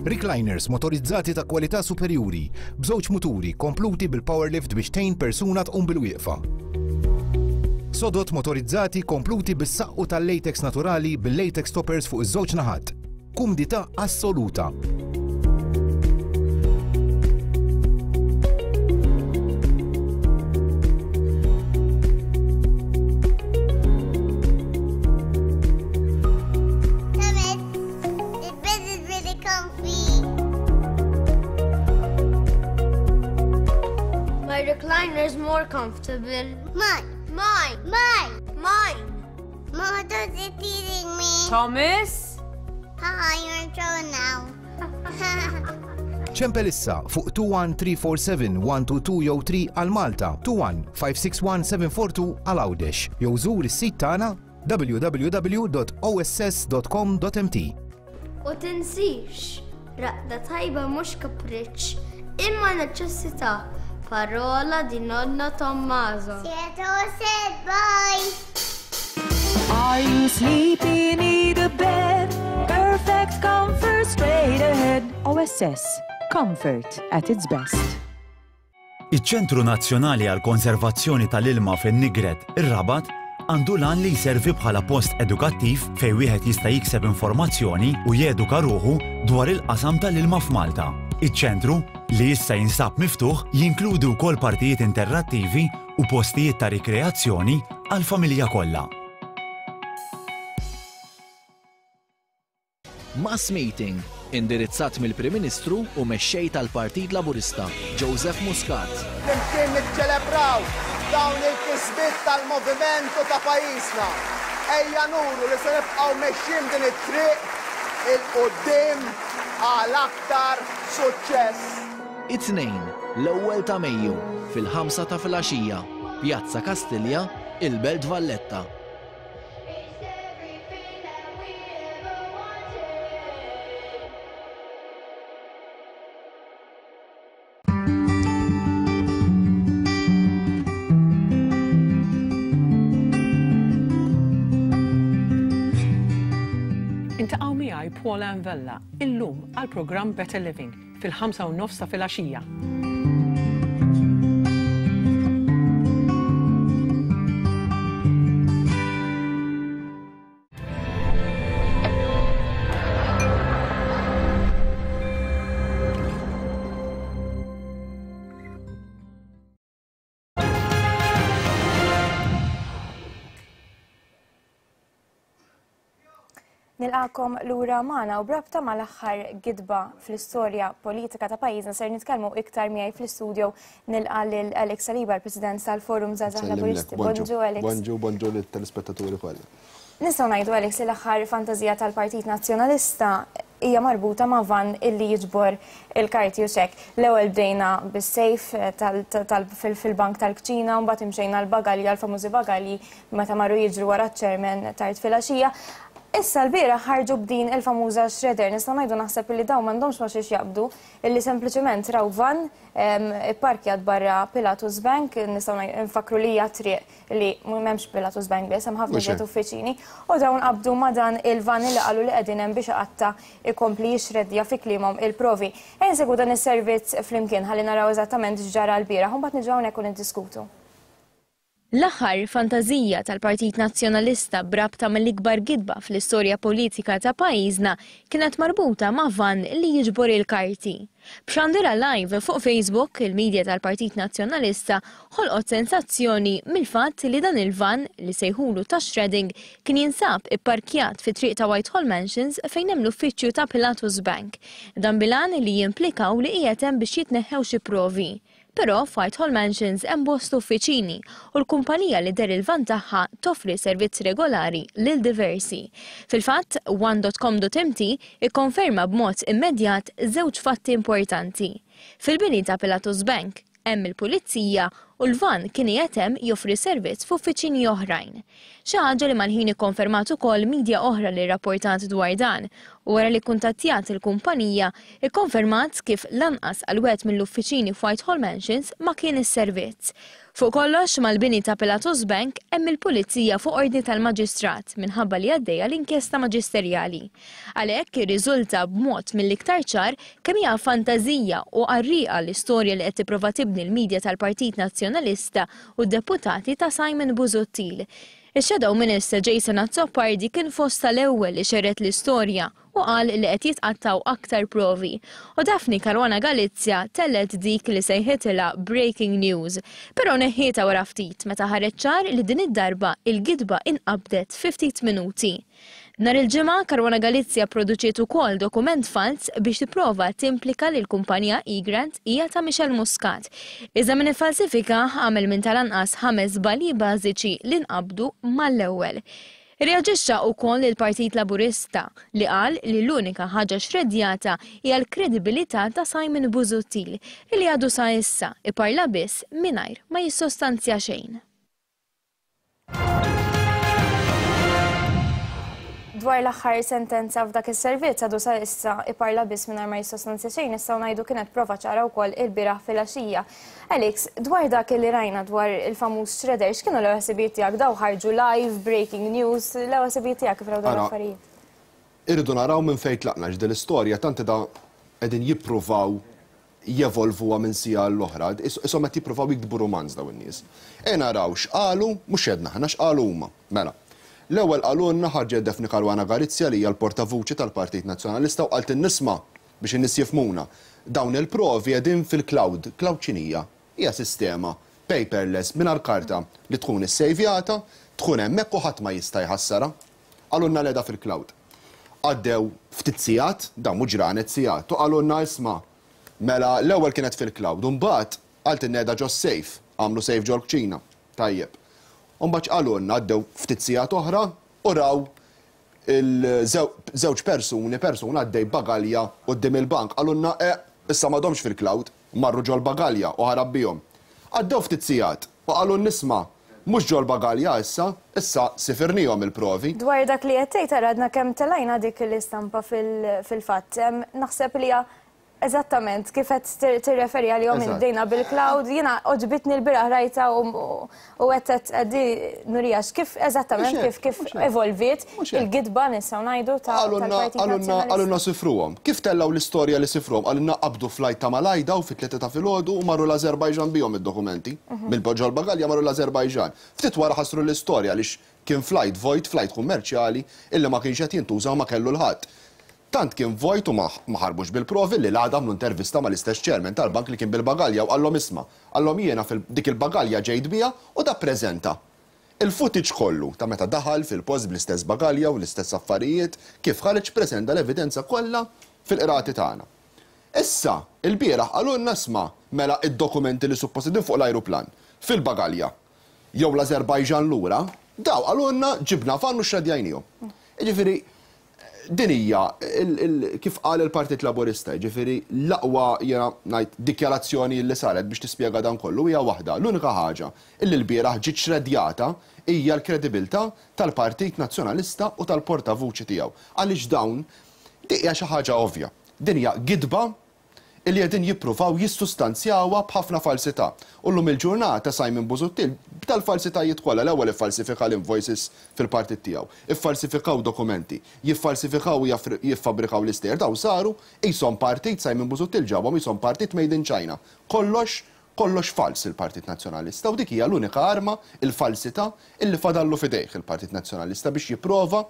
Recliners motorizzati ta' kwalità superjuri, b'żewġ muturi kompluti bil-power lift biex tgħin persuna tqum bil-wieqfa. Sodot motorizzati kompluti bis-saqqu tal-latex naturali bil-latex toppers fuq iż-żewġ naħat. Kumdità assoluta. Recliner is more comfortable. Mine. Mine. Mine. Mine. Mother's teasing me. Thomas? Haha, you're in trouble now. Ċempel issa fuq two one three four seven one two two jew three għal Malta, two one five six one seven four two għal Għawdex. Jew żur is-sit tagħna w w w punt O S S punt com punt M T. U tinsix, raqda tajba mhux kapriċċ, imma neċessità. Parola di nonno Tommaso. Sieto said bye. Are you sleepy? Need a bed? Perfect comfort straight ahead. O S S. Comfort at its best. Iċ-Ċentru Nazzjonali għal Konservazzjoni tal-Ilma fin-Nigret, ir-Rabat, għandu l-għan li jservi bħala post edukattiv fejn wieħed jista' jikseb informazzjoni u jeduka ruħu dwar il-qasam tal-ilma f'Malta. Iċ-ċentru, li issa jinsab miftuħ, jinkludi wkoll partijiet interattivi u postijiet ta' rikreazzjoni għal-familja kollha. Mass Meeting, indirizzat mill-Prim Ministru u mexxej tal-Partit Laburista, Joseph Muscat. Flimkien niċċelebraw dawn il-kisbiet tal-moviment u ta' pajjiżna. Ejja nuru li se nibqgħu mexjin din it-triq 'il quddiem għal aktar suċċess. It-Tnejn, l-ewwel ta' Mejju, fil-ħamsa ta' filgħaxija, Pjazza Kastilja, il-Belt Valletta. Iltaqgħu miegħi Paula Vella illum għal programm Better Living fil-ħamsa u nofs ta' filgħaxija. Nilqagħkom lura magħna u b'rabta mal-aħħar gidba fl-istorja politika ta' pajjiżna ser nitkellmu iktar miegħi fl-istudio. Nilqa' lil Alex Saliba, l-President tal-Forum Żgħażagħ Laburisti. Bonġu, Alex. Bonġu, bonġu lit-telespettaturi kollha. Nistgħu ngħidu, Alex, li l-aħħar fantażija tal-Partit Nazzjonalista hija marbuta ma' van illi jiġbor il-karti u xek. L-ewwel bdejna bis-safe fil-bank tal-kċina, mbagħad imxejna l-bagalji, għal-famużi bagalji meta marru jiġru wara ċ-chairman tard filgħaxija. Issa l-bieraħ ħarġu b'din il-famuża shredder. Nistgħu ngħidu, naħseb, li dawn m'għandhomx ma xiex jaqbdu, illi sempliċement raw van ipparkjat barra Pilatus Bank. Nistgħu nfakru li hija triq li m'hemmx Pilatus Bank biss, hemm ħafna ġiet uffiċini, u dawn qabdu ma dan il-van li qalu li qegħdin hemm biex qatta ikompli jixreddja, fi kliemhom, il-provi. Ejja nsegwu dan is-servizz flimkien ħalli naraw eżattament x'ġara l-bieraħ u mbagħad niġu hawnhekk u niddiskutu. L-aħħar fantażija tal-Partit Nazzjonalista b'rabta mill-ikbar gidba fl-istorja politika ta' pajjiżna kienet marbuta ma' van li jiġbor il-karti. B'xandira live fuq Facebook, il-medja tal-Partit Nazzjonalista ħolqot sensazzjoni mill-fatt li dan il-van li sejħulu ta' shredding kien jinsab ipparkjat fi triq ta' Whitehall Mansions fejn hemm l-uffiċċju ta' Pilatus Bank. Dan bil-għan li jimplikaw li qiegħed hemm biex jitneħħew xi provi. Però f'Whitehall Mansions hemm bost uffiċini u l-kumpanija li der il-van tagħha toffri servizz regolari lil diversi. Fil-fatt, one punt com punt M T ikkonferma b'mod immedjat żewġ fatti importanti. Fil-bini ta' Pilatus Bank hemm il-pulizija u l-van kien qiegħed hemm joffri servizz f'uffiċini oħrajn. Xi ħaġa li mal-ħin ikkonfermat ukoll midja oħra li rrapportat dwar dan, u wara li kuntattjat il-kumpanija, ikkonfermat kif lanqas għal wieħed mill-uffiċini f'Whitehall Mansions ma kien is-servizz. Fuq kollox, mal-bini ta' Pilatus Bank hemm il-pulizija fuq ordni tal-maġistrat minħabba li għaddejja l-inkjesta maġisterjali. Għalhekk irriżulta b'mod mill-iktar ċar kemm hija fantażija u qarrieqa l-istorja li qed tipprova tibni l-medja tal-Partit Nazzjonalista u d-deputati ta' Simon Busuttil. Ix-Shadow Minister Jason Azzopardi kien fost tal-ewwel li xerred l-istorja u qal li qed jitqattaw aktar provi. U Daphne Caruana Galizia tellgħet dik li sejħitilha breaking news. Però neħħietha wara ftit meta ħareġ ċar li din id-darba il-gidba inqabdet fi ftit minuti. Nhar il-Ġimgħa Caruana Galizia produċiet ukoll dokument fals biex tipprova timplika li l-kumpanija Egrant hija ta' Michel Muscat. Iżda min iffalsifika għamel minn tal-anqas ħames żbalji bażiċi li nqabdu mal-ewwel. Reaġixxa wkoll il-Partit Laburista li qal li l-unika ħaġa xredjata hija l-kredibilità ta' Simon Busuttil li għadu sa issa iparla biss mingħajr ma jissostanzja xejn. Dwar l-aħħar sentenza f'dak is-servizz għadu sa issa iparla biss mingħajr ma jissostanzja xejn, nistgħu ngħidu kienet prova ċara wkoll il-bieraħ filgħaxija. Alex, dwar dak li rajna dwar il-famuż shredder, x'kienu l-ewwel ħsibijiet tiegħek? Daw ħarġu live, breaking news, l-ewwel ħsibijiet tiegħek kif raw dawn l-affarijiet? Irridu naraw minn fejn tlaqna x'din l-istorja tant da qegħdin jippruvaw jevolvuha minn sija l-oħra, ishom qed jippruvaw jiktbu romanz dawn in-nies. E naraw x'qalu, mhux għedna aħna x'qalu huma. Mela. L-ewwel qalulna ħarġet Daphne Caruana Galizia li hija l-portavuċi tal-Partit Nazzjonalista u qalt in-nisma biex in-nies jifhmuna. Dawn il-provi qegħdin fil-cloud. Cloud x'inhija? Hija sistema paperless mingħajr karta li tkun issejvjata, tkun hemmhekk u ħadd ma jista' jħassarha. Qalulna l-qiegħda fil-cloud. Għaddew ftit sigħat, dawn mhux ġranet sigħat, u qalulna isma' mela l-ewwel kienet fil-cloud, u mbagħad qalt in-neda ġo safe, għamlu safe ġol kċina. Tajjeb. Mbagħad qalulna għaddew ftit sigħat oħra u raw il-żewġ persuni, persuna għaddej bagalja quddiem il-bank. Qalulna eh, issa m'għadhomx fil-cloud, marru ġol bagalja u ħarab bihom. Għaddew ftit sigħat u qalulna nisma' mhux ġol bagalja issa, issa sifirnihom il-provi. Dwar dak li qed tgħid għadna kemm telajna dik l-istampa fil-fatt. Naħseb li hija eżattament kif qed tirreferi għalihom bdejna bil-cloud, jiena oġbitni l-bieraħ rajta u qed qed nurijax kif eżattament kif kif evolviet il-gidba nistgħu ngħidu tal-Partit Nazzjonalista. Qalulna sifruhom. Kif tellgħu l-istorja li sifruhom? Qalulna qabdu flight ta' Malajda u fit-tlieta ta' filgħodu u marru l-Azerbajġan bihom id-dokumenti. Mill-ġol bagalja marru l-Azerbajġan. Ftit wara ħassru l-istorja għaliex kien flight vojt, flight kummerċjali illi ma kienx qed jintuża u ma kellu l-ħadd. Tant kien vojt u ma ħarbux bil-provi li l-għada għamlu intervista mal-istess chairman tal-bank li kien bil-bagalja u qallhom isma', qallhom jiena dik il-bagalja ġejt biha u da preżenta il-footage kollu ta' meta daħal fil-post bl-istess bagalja u l-istess affarijiet kif ħareġ preżenta l-evidenza kollha fil-qrati tagħna. Issa, il-bieraħ qalulna isma' mela id-dokumenti li suppost qegħdin fuq l-ajruplan fil-bagalja jew l-Azerbajġan lura, daw qalulna ġibna fan u xradjajnihom. Jiġifieri din hija kif qal il-Partit Laburista, jiġifieri l-aqwa jiena ngħid dikjarazzjoni li saret biex tispjega dan kollu hija waħda. L-unika ħaġa illi l-bieraħ ġiet xredjata hija l-kredibilità tal-Partit Nazzjonalista u tal-portavuċi tiegħu. Għaliex dawn dik hija xi ħaġa ovvja. Din hija gidba illi qegħdin jippruvaw jissustanzjawha b'ħafna falsità. U llum il-ġurnata Simon Busuttil b'tal-falsitajiet kollha l-ewwel iffalsifika l-invoices fil-partit tiegħu, iffalsifikaw dokumenti, jiffalsifikaw u jiffabbrikaw l-istejjer, daw saru qishom partit Simon Busuttil ġabhom qishom partit made in China. Kollox, kollox fals il-Partit Nazzjonalista u dik hija l-unika arma, il-falsità illi fadallu f'idejh il-Partit Nazzjonalista biex jipprova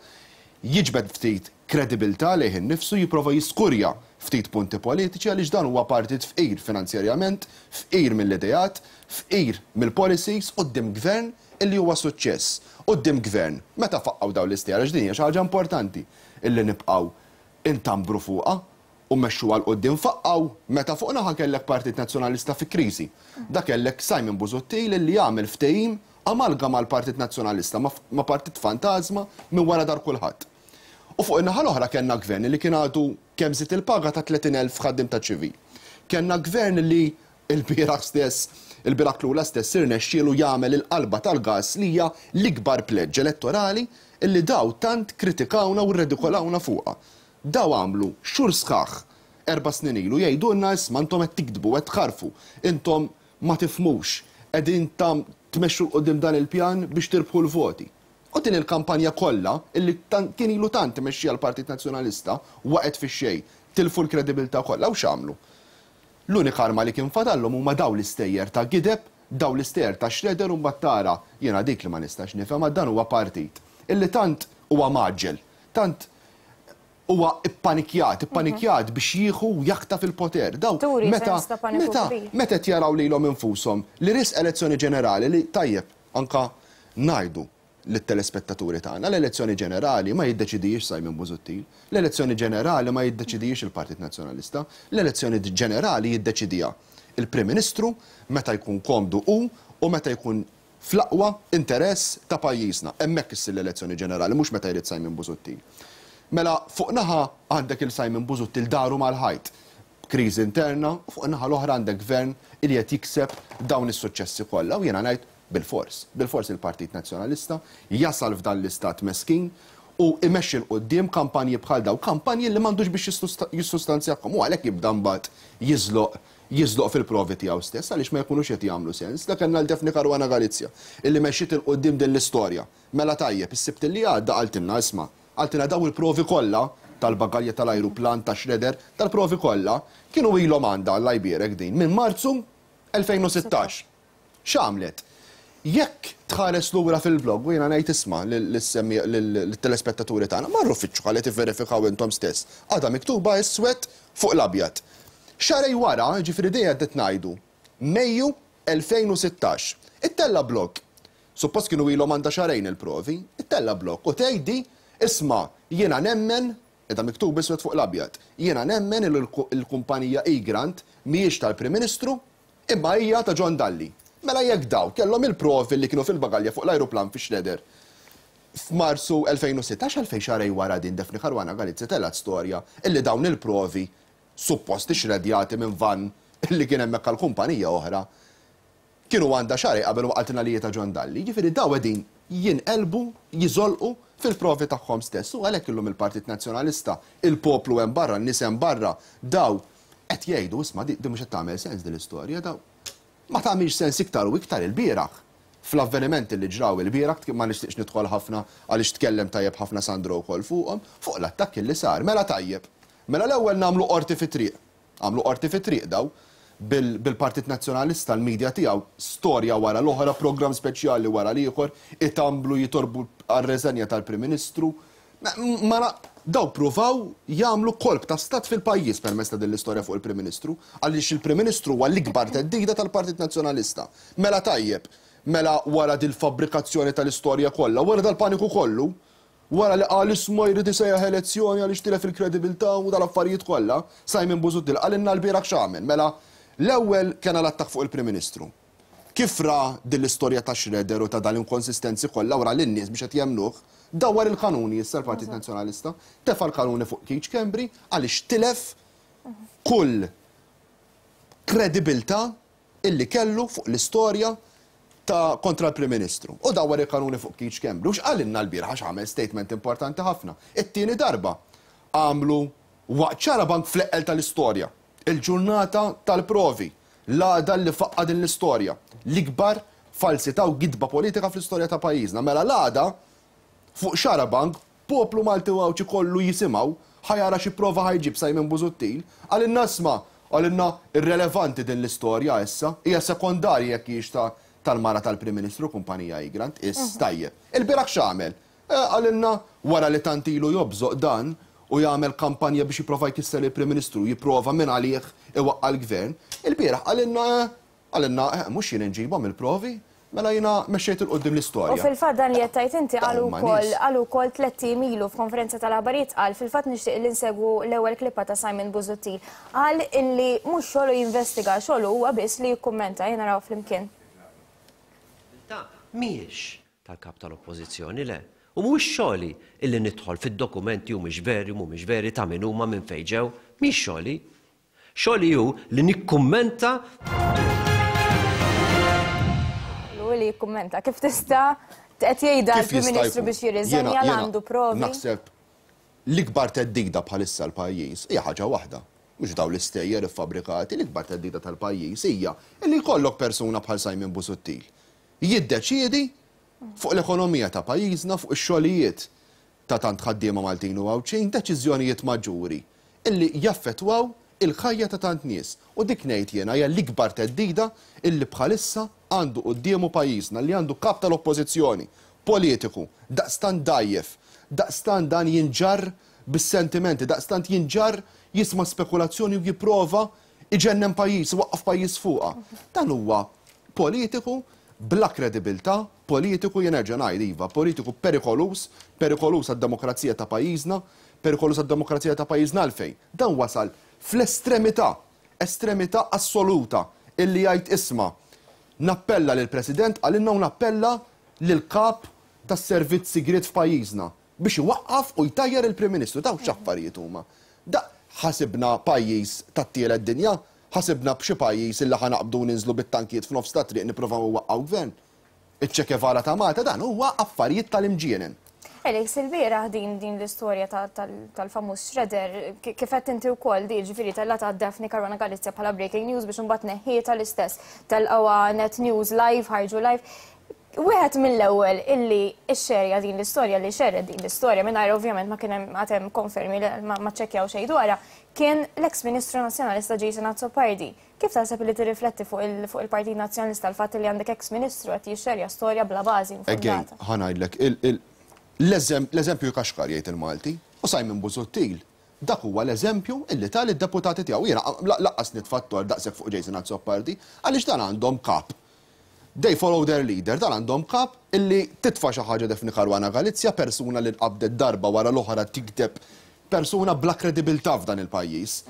jiġbed ftit kredibilità lejh innifsu, jipprova jiskurja ftit punti politiċi għaliex dan huwa partit fqir finanzjarjament, fqir mill-ideat, fqir mill-policies quddiem gvern illi huwa suċċess. Quddiem gvern, meta faqqgħu dawn l-istejjer, għax din hija xi ħaġa importanti illi nibqgħu intambru fuqha u mmexxu għal quddiem faqqgħu meta fuq naħa kellek Partit Nazzjonalista fi kriżi. Da kellek Simon Busuttil illi jagħmel ftehim amalgama mal-Partit Nazzjonalista ma' partit fantasma minn wara dar kulħadd. U fuq in-naħa l-oħra kellna gvern li kien għadu kemm żied il-paga ta' tletin elf ħaddiem ta' ċivil. Kellna gvern li il-bieraħ stess, il-bieraħ lura stess irnexxielu jagħmel il-qalba tal-gas li hija l-ikbar pledge elettorali illi daw tant kritikawna u rredikolawna fuqha. Daw għamlu xhur sħaħ erba' snin ilu jgħidulna isma' intom qed tiktbu qed tħarfu, intom ma tifhmux, qegħdin tam tmexxu 'l quddiem dan il-pjan biex tirbħu l-voti. U din il-kampanja kollha illi kien ilu tant imexxija l-Partit Nazzjonalista waqgħet fix-xejn, tilfu l-kredibilità kollha u x'għamlu. L-unika arma li kien fadallhom huma daw l-istejjer ta' gideb, daw l-istejjer ta' shredder u mbagħad tara jiena dik li ma nistax nifhem dan huwa partit illi tant huwa maġġel, tant huwa ippanikjat, ippanikjat biex jieħu u jaħtaf il-poter. Daw meta meta meta qed jaraw lilhom infushom li risq elezzjoni ġenerali li tajjeb anka ngħidu lit-telespettaturi tagħna, l-elezzjoni ġenerali ma jiddeċidix Simon Busuttil, l-elezzjoni ġenerali ma jiddeċidix il-Partit Nazzjonalista, l-elezzjoni ġenerali jiddeċidiha il-Prim Ministru meta jkun komdu hu u meta jkun fl-aqwa interess ta' pajjiżna. Hemmhekk issir l-elezzjoni ġenerali, mhux meta jrid Simon Busuttil. Mela fuq naħa għandek il-Simon Busuttil daru mal-ħajt, kriżi interna, u fuq naħa l-oħra għandek gvern li qed jikseb dawn is-suċċessi kollha u jiena ngħid bilfors, bilfors il-Partit Nazzjonalista jasal f'dan l-istat meskin U imexxi 'l quddiem kampanji bħal daw, kampanji li m'għandux biex jissustanzjakhom, u għalhekk jibda mbagħad jiżloq jiżloq fil-provi tiegħu stess għaliex ma jkunux qed jagħmlu sens. Dak kellna l-Daphne Caruana Galizia illi mexxiet 'il quddiem din l-istorja. Mela tajjeb, is-Sibt li għadda qaltilna isma', qaltilna daw il-provi kollha tal-bagalja tal-ajruplan, ta' shredder, tal-provi kollha kienu ilhom għandha Alla jbierek din minn Marzu elfejn u sittax. X'għamlet? Jekk tħares lura fil-blog u jiena ngħid isma' lill-telespettaturi tagħna, marru fittxu ħalli tivverifikaw intom stess. Għadha miktuba iswed fuq l-abjad. Xarej wara, ġifieri dejja qed ngħidu, Mejju elfejn u sittax. Ittella blog. Suppost kienu ilhom għandha xarejn il-provi, ittella blog u tgħidi isma' jiena nemmen, edha miktub iswed fuq l-abjad, jiena nemmen il-kumpanija Egrant mhijiex tal-Prim Ministru imma hija ta' John Dalli. Mela jekk daw kellhom il-provi li kienu fil-bagalja fuq l-ajruplan fi Shredder f'Marzu elfejn u sittax, għalfejn xarej wara din Daphne Caruana Galizia telgħet storja illi dawn il-provi suppost ixredjati minn van illi kien hemmhekk għal kumpanija oħra kienu għandha xarej qabel waqgħet li ta' John Dalli. Jiġifieri daw qegħdin jinqelbu, jiżolqu fil-provi tagħhom stess. U għalhekk illum il-Partit Nazzjonalista, il-poplu hemm barra, n-nies hemm barra, daw qed jgħidu isma' di mhux qed tagħmel sens din l-istorja, daw ma tagħmilx sens iktar u iktar il-bieraħ. Fl-avvenimenti li ġraw il-bieraħ, ma nixtieqx nidħol ħafna għaliex tkellem tajjeb ħafna Sandro wkoll fuqhom, fuq l-attakki li sar. Mela tajjeb. Mela l-ewwel nagħmlu qorti fit-triq. Għamlu qorti fit-triq daw bil-Partit Nazzjonalista, l-medja tiegħu, storja wara l-oħra, programm speċjali wara l-ieħor, itamblu jitorbu għar-reżenja tal-Prim Ministru. Ma daw pruvaw jagħmlu kolp ta' stat fil-pajjiż permezz ta' din l-istorja fuq il-Prim Ministru, għaliex il-Prim Ministru huwa l-ikbar theddida tal-Partit Nazzjonalista. Mela tajjeb, mela wara dil-fabbrikazzjoni tal-istorja kollha, wara dal-paniku kollu, wara li qal isma' jrid isejjaħ elezzjoni għaliex tilef il-kredibilità u dal-affarijiet kollha, Simon Busuttil qalilna l-bieraħ x'għamel. Mela l-ewwel kien l-attakk fuq il-Prim Ministru. Kif ra din l-istorja ta' Shredder u ta' dal-inkonsistenzi kollha wara lin-nies biex qed jemnuh, dawwar il-kanuni issa l-Partit Nazzjonalista, tefa' l-kanuni fuq Keith Schembri għaliex tilef kull kredibilità illi kellu fuq l-istorja ta' kontra l-Prim Ministru. U dawwar il-kanuni fuq Keith Schembri. U x'qalilna l-bieraħ għax għamel statement importanti ħafna. It-tieni darba għamlu waqt xarabank fl-eqqel tal-istorja, il-ġurnata tal-provi, l-għada li faqqa din l-istorja, l-ikbar falsità u gidba politika fl-istorja ta' pajjiżna. Mela l-għada fuq xarabank, poplu Malti u Għawdxi kollu jisimgħu, ħajara xi prova ħajġib Simon Busuttil, qalilna isma', qalilna irrelevanti din l-istorja issa, hija sekondarja jekk hijiex ta' tal-mara tal-Prim Ministru kumpanija Egrant, is tajjeb. Il-bieraħ x'għamel? Qalilna wara li tant ilu jobżoq dan u jagħmel kampanja biex jipprova jkisser il-Prim Ministru, jipprova minn għalih iwaqqa' l-gvern. Il-bieraħ qalilna, qalilna mhux jien inġibhom il-provi, mela jiena mexxejt il quddiem l-istorja. U fil-fatt dan li qed tgħid inti qalu wkoll qalu wkoll tliet ijiem ilu f'konferenza tal-aħbarijiet qal fil-fatt nixtieq li nsegwu l-ewwel klippa ta' Simon Busuttil. Qal illi mhux xogħlu jinvestiga, xogħlu huwa biss li jikkummenta, jiena naraw flimkien. Mhijiex tal-kap tal-Oppożizzjoni le. U mhuwiex xogħli illi nidħol fid-dokumenti u mhux veri u mhumiex veri ta' min huma minn fejn ġew, mhix xogħli. Xogħli hu li nikkummenta. Li jikkummenta. Kif tista' qed jgħidha l-Prim Ministru biex jirriżenja għandu provi? Naħseb l-ikbar theddida bħalissa l-pajjiż hija ħaġa waħda. Mhux dawn l-istejjer iffabbrikati, l-ikbar theddida tal-pajjiż hija li jkollok persuna bħal Simon Busuttil jiddeċiedi fuq l-ekonomija ta' pajjiżna, fuq ix-xogħlijiet ta' tant ħaddiema Maltin u Għawdxin, deċiżjonijiet maġġuri illi jaffettwaw il-ħajja ta' tant nies. U dik ngħid jiena hija l-ikbar theddida illi bħalissa għandu quddiemu pajjiżna, li għandu kap tal-oppożizzjoni politiku, daqstant dajjef, daqstant dan jinġarr bis-sentimenti, daqstant jinġarr jisma' spekulazzjoni u jipprova iġennem pajjiż, iwaqqaf pajjiż fuqha. Dan huwa politiku bla kredibilità, politiku jien nerġa' ngħid iva, politiku perikolus, perikolus għad-demokrazija ta' pajjiżna, perikolus għad-demokrazija ta' pajjiżna għalfejn. Dan wasal fl-estremità, estremità assoluta illi jgħid isma' nappella lill-President għalinna u nappella lill-kap tas-servizz sigriet f'pajjiżna biex iwaqqaf u jtajjar il-Prim Ministru. Dawn x'affarijiet huma. Da ħasibna pajjiż tat-tielet dinja, ħasibna b'xi pajjiż illi ħa naqbdu ninżlu bit-tankijiet f'nofs ta' triq nippruvaw iwaqqgħu gvern. Iċ-Che Guevara ta' Malta dan huwa affarijiet tal-imġienen. Alex, il-bieraħ din din l-istorja tal-famuż shredder, kif qed inti wkoll di ġifieri tellgħetha Daphne Caruana Galizia bħala breaking news biex imbagħad neħħietha l-istess tal-qawa Net News live, ħarġu live. Wieħed mill-ewwel illi xxerja din l-istorja, li xerred din l-istorja mingħajr ovvjament ma kien hemm għad hemm konfermi, ma ċċekkjaw xejn dwarha, kien l-eks Ministru Nazzjonalista Jason Azzopardi. Kif taħseb li tirrifletti fuq il-Partit Nazzjonalista l-fatt li għandek eks Ministru qed jixxerja storja bla bażi Again, ħa ngħidlek, l-eżempju kaxkar jgħid il-Malti, u Simon Busuttil, dak huwa l-eżempju illi tal id-deputati tiegħu. Jiena laqqas nitfattor daqshekk fuq Jason Azzopardi, għaliex dan għandhom kap. They follow their leader, dan għandhom kap illi titfa' xi ħaġa Daphne Caruana Galizia, persuna li nqabdet darba wara l-oħra tikdeb, persuna bla kredibilità f'dan il-pajjiż.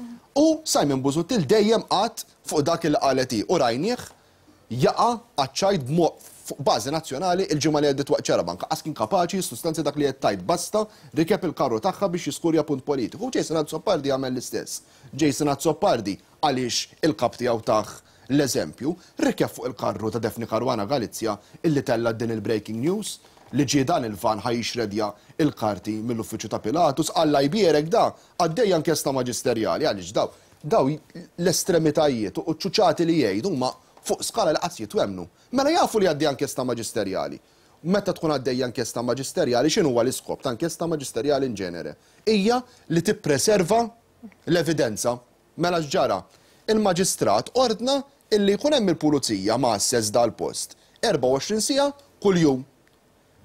U Simon Busuttil dejjem qatt fuq dak il qalet hi u rajnieh jaqa' għaċ-ċajt fuq bażi nazzjonali il-ġimgħa li għaddiet waqt Xarabank. Qas kien kapaċi jissustanzja dak li qed tgħid, basta rikeb il-karru tagħha biex jiskurja punt politiku. U Jason Azzopardi għamel l-istess. Jason Azzopardi għaliex il-kap tiegħu tah l-eżempju, rikeb fuq il-karru ta' Daphne Caruana Galizia illi tella din il-breaking news li ġie dan il-van ħa jixredja il-karti mill-uffiċċju ta' Pilatus, Alla jbierek da għaddejja inkjesta maġisterjali, għaliex daw daw l-estremitajiet u ċ-ċuċati li jgħidu huma fuq skala li qatt jitwemnu. Mela jafu li għaddejja inkjesta maġisterjali. Meta tkun għaddejja inkjesta maġisterjali, x'inhu huwa l-iskop ta' inkjesta maġisterjali in ġenere? Hija li tippreserva l-evidenza. Mela x'ġara? Il-maġistrat ordna illi jkun hemm il-pulizija ma' assess dal-post erbgħa u għoxrin siegħa kuljum.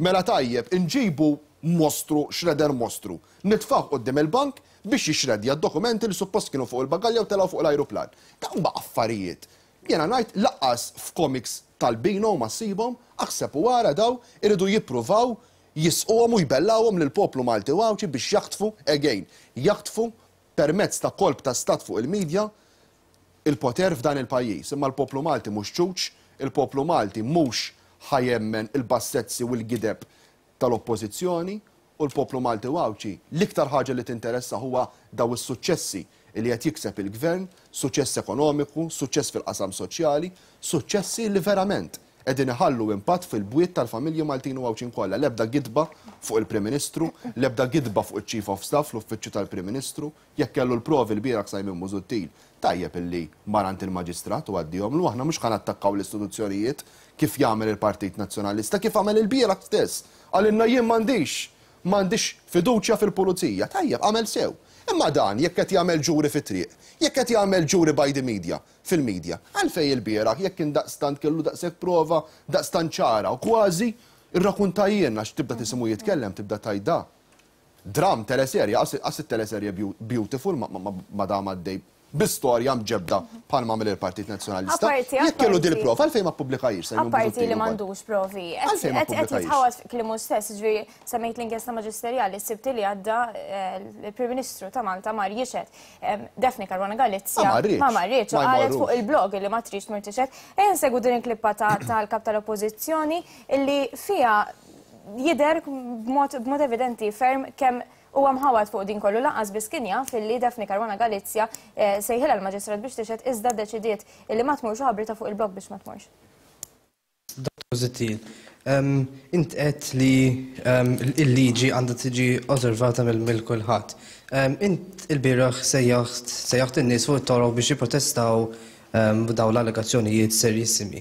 Mela tajjeb inġibu mostru, shredder mostru, nitfgħu quddiem il-bank biex jixredja d-dokumenti li suppost kienu fuq il-bagalja u telgħu fuq l-ajruplan. Dawn huma affarijiet. Jiena ngħid laqqas f'comics tal-Bino ma ssibhom, aħseb u wara daw iridu jippruvaw jisquhom u jbellawhom lill-poplu Malti u Għawdxi biex jaħtfu again, jaħtfu permezz ta' kolp ta' stat fuq il-medja il-poter f'dan il-pajjiż. Imma l-poplu Malti mhux ċuċ, il-poplu Malti mhux ħajemmen il-bassezzi u l-gideb tal-oppożizzjoni, u l-poplu Malti u Għawdxi l-iktar ħaġa li tinteressa huwa daw is-suċċessi li qed jikseb il-gvern, suċċess ekonomiku, suċċess fil-qasam soċjali, suċċessi li verament qegħdin iħallu impatt fil-bwiet tal-familji Maltin u Għawdxin kollha. L-ebda gidba fuq il-Prim Ministru, l-ebda gidba fuq iċ-Chief of Staff, l-Uffiċċju tal-Prim Ministru, jekk kellu l-provi l-bieraħ Simon Busuttil, tajjeb illi mar għand il-Maġistrat u għaddihomlu, aħna mhux ħa nattakkaw l-istituzzjonijiet kif jagħmel il-Partit Nazzjonalista, kif għamel il-bieraħ stess. Qalilna jien m'għandix, m'għandix fiduċja fil-pulizija. Tajjeb, għamel sew. Imma dan jekk qed jagħmel ġuri fit-triq, jekk qed jagħmel ġuri by the media, fil-media, għalfejn il-bieraħ jekk kien daqstant kellu daqshekk prova, daqstant ċara u kważi irrakuntajjien għax tibda tisimu jitkellem, tibda tajda. Dram teleserja, qas it-teleserja Beautiful ma dam għaddej bi-storja mġebda bħalma għamel il-Partit Nazzjonalista. Jekk kellu din il-prova, għalfejn ma ppubblikajx? Apparti li m'għandux provi. Qed jitħawad kliemu stess, ġifieri semmejt l-inkjesta maġisterjali, s-Sibt li għadda il-Prim Ministru ta' Malta mar jixhed. Daphne Caruana Galizia ma marritx, qalet fuq il-blog li ma tridx tmur tixhed. Ejja nsegwu din il-klippa tal-kap tal-Oppożizzjoni illi fiha jidher b'mod evidenti ferm kemm huwa mħawad fuq din kollu, lanqas biss kien jaf illi Daphne Caruana Galizia sejħilha l-maġistrat biex tixhed, iżda ddeċidiet illi ma tmurx u ħabrita fuq il-blog biex ma tmurx. Dottor Busuttil, int qed li l-liġi għandha tiġi osservata mill kulħadd. Int il-bieraħ sejjaħt in-nies fuq it-toroq biex jipprotestaw dawn l-allegazzjonijiet serjissimi.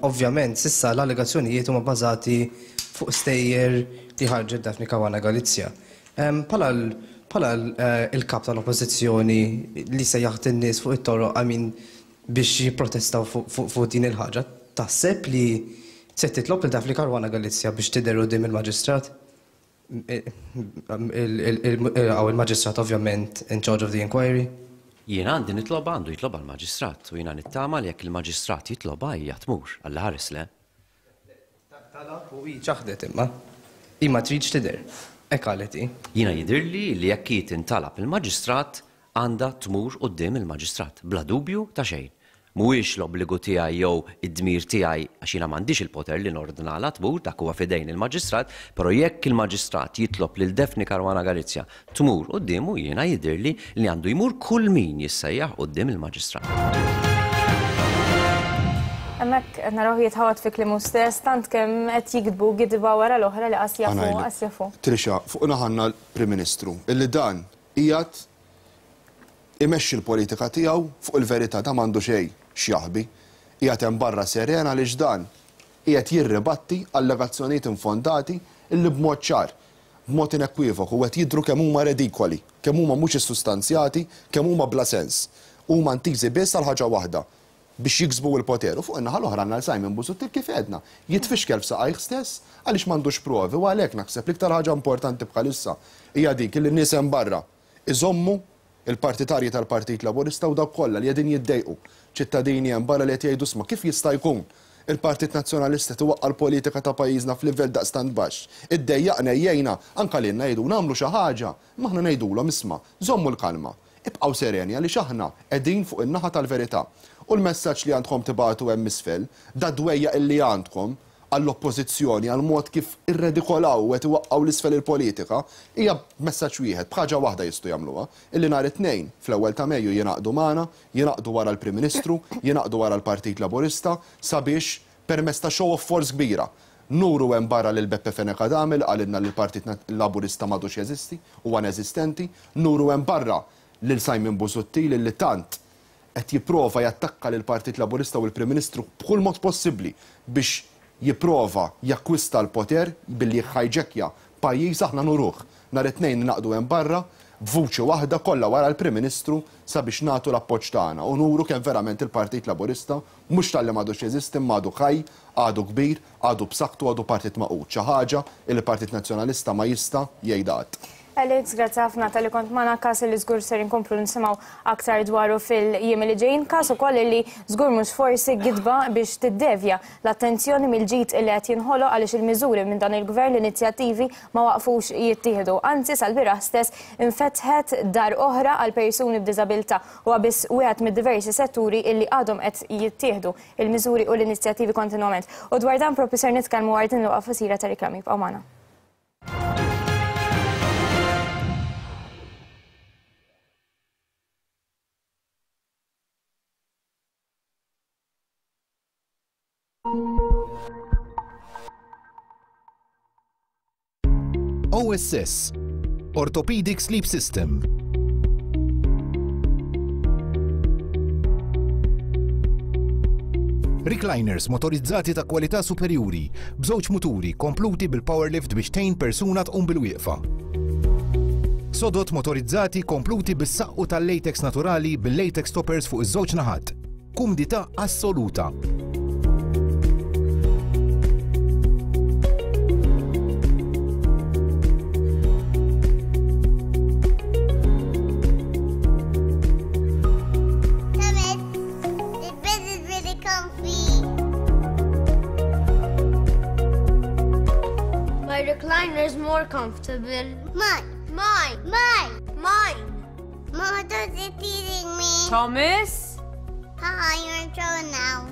Ovvjament, sissa l-allegazzjonijiet huma bbażati fuq stejjer li ħarġet Daphne Caruana Galizia. Bħala il-kap tal-oppożizzjoni li sejjaħt in-nies fuq it-toroq għamin biex jipprotestaw fuq din il-ħaġa, taħseb li se titlob lil Daphne Caruana Galizia biex tidher quddiem il-maġistrat? Għaw il-maġistrat ovvjament in charge of the inquiry? Jiena għandi nitloba, għandu jitloba l-maġistrat, u jiena nittama li jekk il-maġistrat jitloba hija tmur, Alla ħares le. Talab u hi ċaħdet imma. Hi ma tridx tidher. Hekk qalet hi. Jiena jidhirli li jekk hi tintalab il-maġistrat għandha tmur quddiem il-maġistrat, bla dubju ta' xejn. Mhuwiex l-obbligu tiegħi jew id-dmir tiegħi għax jiena m'għandix il-poter li nordnalha tmur, dak huwa f'idejn il-maġistrat, però jekk il-maġistrat jitlob lil Daphne Caruana Galizia tmur quddiemu, jiena jidhirli li għandu jmur kull min jissejjaħ quddiem il-maġistrat. Hemmhekk qed naraw jitħawad fi kliemu stess, tant kemm qed jikdbu gidba wara l-oħra li qas jafu, qas jafu. Trisha, fuq naħanna l-Prim Ministru, illi dan qiegħed imexxi l-politika tiegħu fuq il-verità, ta' m'għandu xejn x'jaħbi. Qiegħed hemm barra serena għaliex dan qiegħed jirribatti allegazzjonijiet infondati illi b'mod ċar, b'mod inekwivoku qed jidhru kemm huma redikoli, kemm huma mhux issustanzjati, kemm huma bla sens. Huma ntiżi biss għal ħaġa waħda, biex jiksbu l-poter. U fuq in-naħa l-oħra għandna Simon Busuttil kif għedna, jitfixkel f'saqajh stess għaliex m'għandux provi, u għalhekk naħseb l-iktar ħaġa importanti bħalissa hija dik li n-nies hemm barra iżommu il-partitarji tal-Partit Laburista u dawk kollha li qegħdin jiddejqu, ċittadini hemm barra li qed jgħidu sma kif jista' jkun il-Partit Nazzjonalista tiwaqqa' l-politika ta' pajjiżna f'livell daqstant baxx. Iddejjaqna jgħinna anke lilna jgħidu nagħmlu xi ħaġa, imma aħna ngħidulhom isma' żommu l-kalma, ibqgħu sereni għaliex aħna qegħdin fuq in-naħa tal-verità. U l-messaġġ li għandkom tibatu hemm isfel, da dwejja illi għandkom għall-oppożizzjoni, għall-mod kif irredikolaw u qed iwaqqgħu l-isfel il-politika, hija messaġġ wieħed, b'ħaġa waħda jistgħu jagħmluha, illi nhar it-tnejn fl-ewwel ta' Mejju jingħaqdu magħna, jingħaqdu wara l-Prim Ministru, jingħaqdu wara l-Partit Laburista sabiex permezz ta' show of force kbira nuru hemm barra lil Beppe Fenech Adami li qalilna li l-Partit Laburista m'għadux jeżisti, huwa ineżistenti, nuru hemm barra lil Simon Busuttil li tant qed jipprova jattakka lil Partit Laburista u l-Prim Ministru b'kull mod possibbli biex jipprova jakkwista l-poter billi jħajġekja pajjiż, aħna nuruh. Nhar it-tnejn naqdu hemm barra b'vuċi waħda kollha wara l-Prim Ministru sabiex nagħtu l-appoġġ tagħna u nuru kemm verament il-Partit Laburista mhux talli m'għadux jeżisti imma għadu ħaj, għadu kbir, għadu b'saħħtu, għadu partit maqud, xi ħaġa li l-Partit Nazzjonalista ma jista' jgħidha qatt. Alex, grazzi ħafna tal-li kont magħna, każ li żgur ser inkomplu nisimgħu aktar dwaru fil-jiem li ġejjin, każ ukoll li żgur mhux forsi gidba biex tiddevja l-attenzjoni mill-ġid li qed jinħoloq għaliex il-miżuri minn dan il-gvern, l-inizjattivi ma waqfux jittieħdu. Anzi, sal-bieraħ stess infetħet dar oħra għal persuni b'diżabilità u biss wieħed mid-diversi setturi illi għadhom qed jittieħdu il-miżuri u l-inizjattivi kontinwament. U dwar dan propju ser nitkellmu wara din il-waqfa qasira ta' riklami. Ibqgħu magħna. O S S, Orthopedic Sleep System. Recliners motorizzati ta' kwalità superjuri, b'żewġ muturi kompluti bil-powerlift biex tgħin persuna tqum bil-wieqfa. Sodot motorizzati kompluti bis-saqqu tal-latex naturali bil-latex toppers fuq iż-żewġ naħat. Kumdità assoluta. Recliner is more comfortable. Mine. Mine. Mine. Mine. Mother's teasing me. Thomas? Haha, you're in trouble now.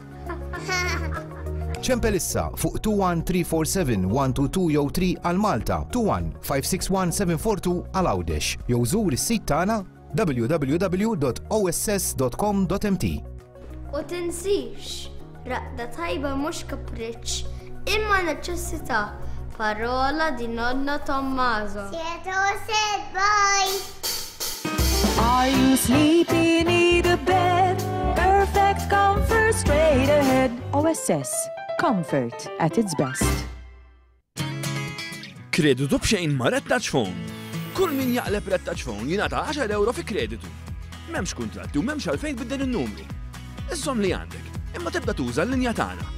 Ċempel issa fuq two one three four seven one two two jew three għal Malta, two one five six one seven four two għal Għawdex jew żur is-sit tagħna w w w dot o s s dot com dot m t. U tinsix, raqda tajba mhux kapriċċ, imma neċessità. Parola di nonno Tommaso. Said bye. Are you sleepy? Need a bed? Perfect comfort straight ahead. O S S. Comfort at its best. Kreditu b'xejn ma' Red Touch Phone. Kull min jaqleb Red Touch Phone jingħata għaxar euro fi kreditu. M'hemmx kuntratti u m'hemmx għalfejn tbiddel in-numru. Iżżomm li għandek, imma tibda tuża l-linja tagħna.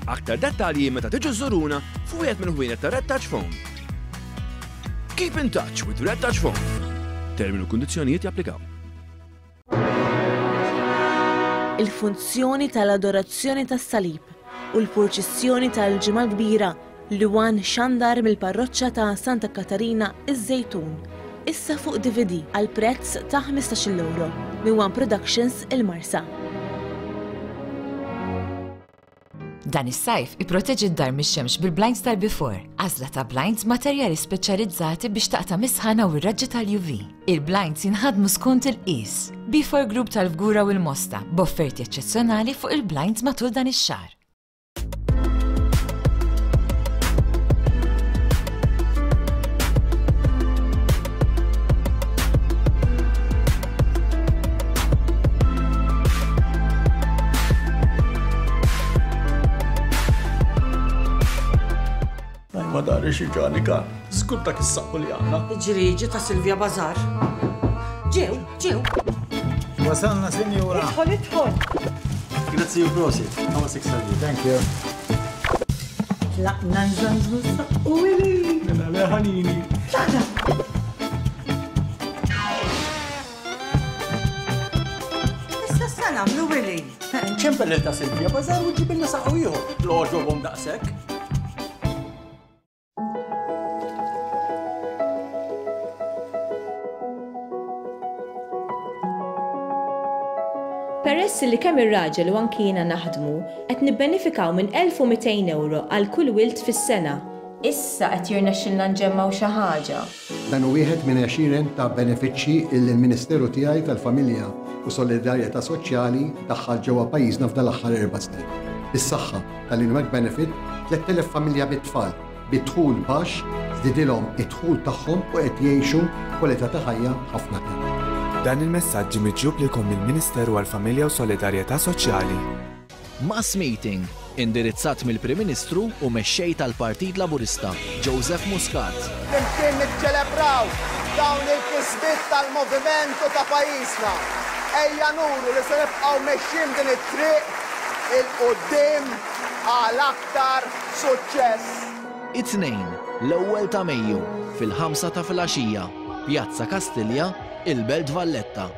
Aktar dettalji meta tiġu żuruna f'wieħed mill-ħwienet ta' Red Touch Phone. Keep in touch with Red Touch Phone. Termini u kundizzjonijiet japplikaw. Il-funzjoni tal-adorazzjoni tas-salib u l-purċissjoni tal-Ġimgħa Kbira li wan xandar mill-parroċċa ta' Santa Katarina iż-Żejtun. Issa fuq D V D għal prezz ta' ħmistax-il euro minn One Productions il-Marsa. Dan is-sajf ipproteġi d-dar mix-xemx bil-blinds tal-Before. Għażla ta' blinds materjali speċjalizzati biex taqta' mis-sħana u r-raġġi tal-U V. Il-blinds jinħadmu skont il-qies. B four Group tal-Fgura u l-Mosta, b'offerti eċċezzjonali fuq il-blinds matul dan ix-xahar. Ma dari xi ġanika, żgur dak is-saqqu li għandna. Ġriġi ta' Silvia Bazar. Ġew, ġew. Wasalna, sinjura. Idħol, idħol. Grazzi u prosit. Għawa six Thank you. Tlaqna nżanżnu s-saqqu ili. Mela leħanini. Tlaqna. Issa sa nagħmlu Willy. Ċempel ta' Silvia Bazar u ġibilna saqqu ieħor. L-għoġobhom daqshekk. Peress li kemm ir-raġel u anki jiena naħdmu, qed nibbenefikaw minn elf u mitejn euro għal kull wild fis-sena. Issa qed jirnexxilna nġemmgħu xi ħaġa. Dan hu wieħed minn għexieren ta' benefiċċji li l-Ministeru tiegħi tal-Familja u Solidarjetà Soċjali daħħal ġewwa pajjiżna f'dan l-aħħar erba' snin. Bis-saħħa tal-In-Work Benefit, tliet elef familja bit-tfal bi dħul baxx żdidilhom id-dħul tagħhom u qed jgħixu kwalità ta' ħajja ħafna aħjar. Dan il-messaġġ miġjub lilkom mill-Ministeru għall-Familja u Solidarjetà Soċjali. Mass meeting indirizzat mill-Prim Ministru u mexxej tal-Partit Laburista, Joseph Muscat. Flimkien niċċelebraw dawn il-kisbiet tal-moviment u ta' pajjiżna. Ejja nuru li se nibqgħu mexjin din it-triq il-quddiem għal aktar suċċess. It-tnejn, l-ewwel ta' Mejju, fil-ħamsa ta' filgħaxija, Pjazza Kastilja, il-Belt Valletta.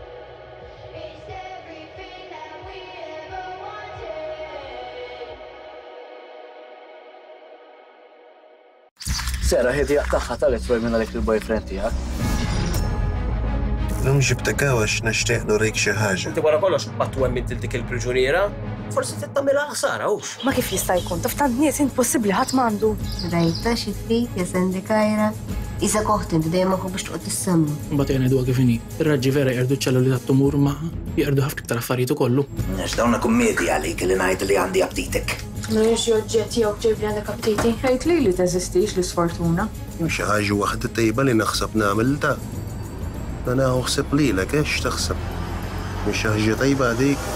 Sera, ħedi jaqtaħħa tal-etwaj minn għalek il-boyfriend tiegħek. Lum ġibtek għax nixtieq nurik xi ħaġa. Inti wara kollox qatt wemmint il dik il-priġuniera, forsi trid tagħmilha ħsara hux. Ma kif jista' jkun, taf tant nies impossibbli ħadd m'għandu. Rajta xi trid ja Sandy Kajra. Isa koħt inti dejjem aħu biex toqgħod tissemma. Imbagħad jgħidu kif inhi. Ir-raġġi vera jqerdu ċ-ċelluli tat-tumur ma jqerdu ħafna iktar affarijiet ukollu. Għax dawn kummedji għalik li ngħid li għandi aptitek. Mhux oġġett jew ġejb li għandek aptiti. Għid li li teżistix l-isfortuna. Hemm xi ħaġa waħda tajba li naħseb nagħmel ta'. Nagħu ħseb lilek ex taħseb. Mhux xi ħaġa tajba dik.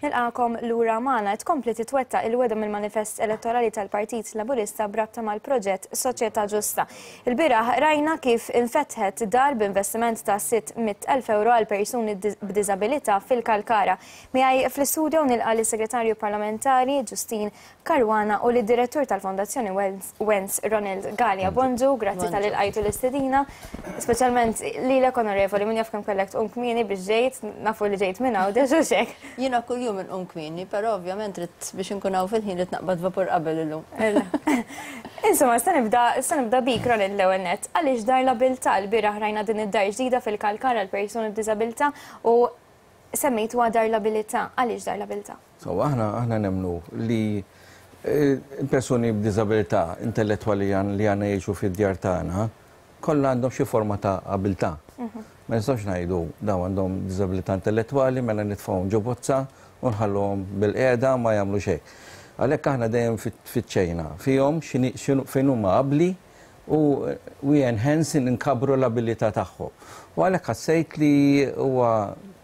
Nilqakom lura magħna tkompli titwettaq il-weda mill-manifest elettorali tal-Partit Laburista brabta mal-proġett Soċjetà Ġusta. Il-bieraħ rajna kif infetħet dar b'investiment ta' sitt mitt elf euro għal persuni b'diżabilità fil-Kalkara. Miegħi fl-istudio nilqa' lis-Segretarju Parlamentari Justyne Caruana u lid-Direttur tal-Fondazzjoni Wens Ronald Galea. Bonġu, grazzi tal-ilqajtu l-istedina, speċjalment lilek onorevoli, min jaf kemm kellek tqum kmieni biex ġejt, nafu li ġejt minn hawn, deġu xek. Jiena kuljum inqum kmieni, però ovvjament rid biex inkun hawn fil-ħin rid naqbad vapur qabel illum. Insomma, se nibda se nibda bik Ronald l-ewwel nett. Għaliex dar l-abilità l-bieraħ rajna din id-dar ġdida fil-Kalkara għal persuni b'diżabilità u semmejtuha dar l-abilità. Għaliex dar l-abilità? So, aħna aħna nemmnu li l-persuni b'diżabilità intellettwali li għandna jgħixu fid-djar tagħna kollha għandhom xi forma ta' abilità. Ma nistgħux ngħidu dawn għandhom diżabilità intellettwali mela nitfgħuhom ġo bozza u nħalluhom bil-qiegħda ma jagħmlu xejn. Għalhekk aħna dejjem fittxejna fihom fejn huma abbli u we enhance nkabru l-abilità tagħhom. U għalhekk ħassejt li huwa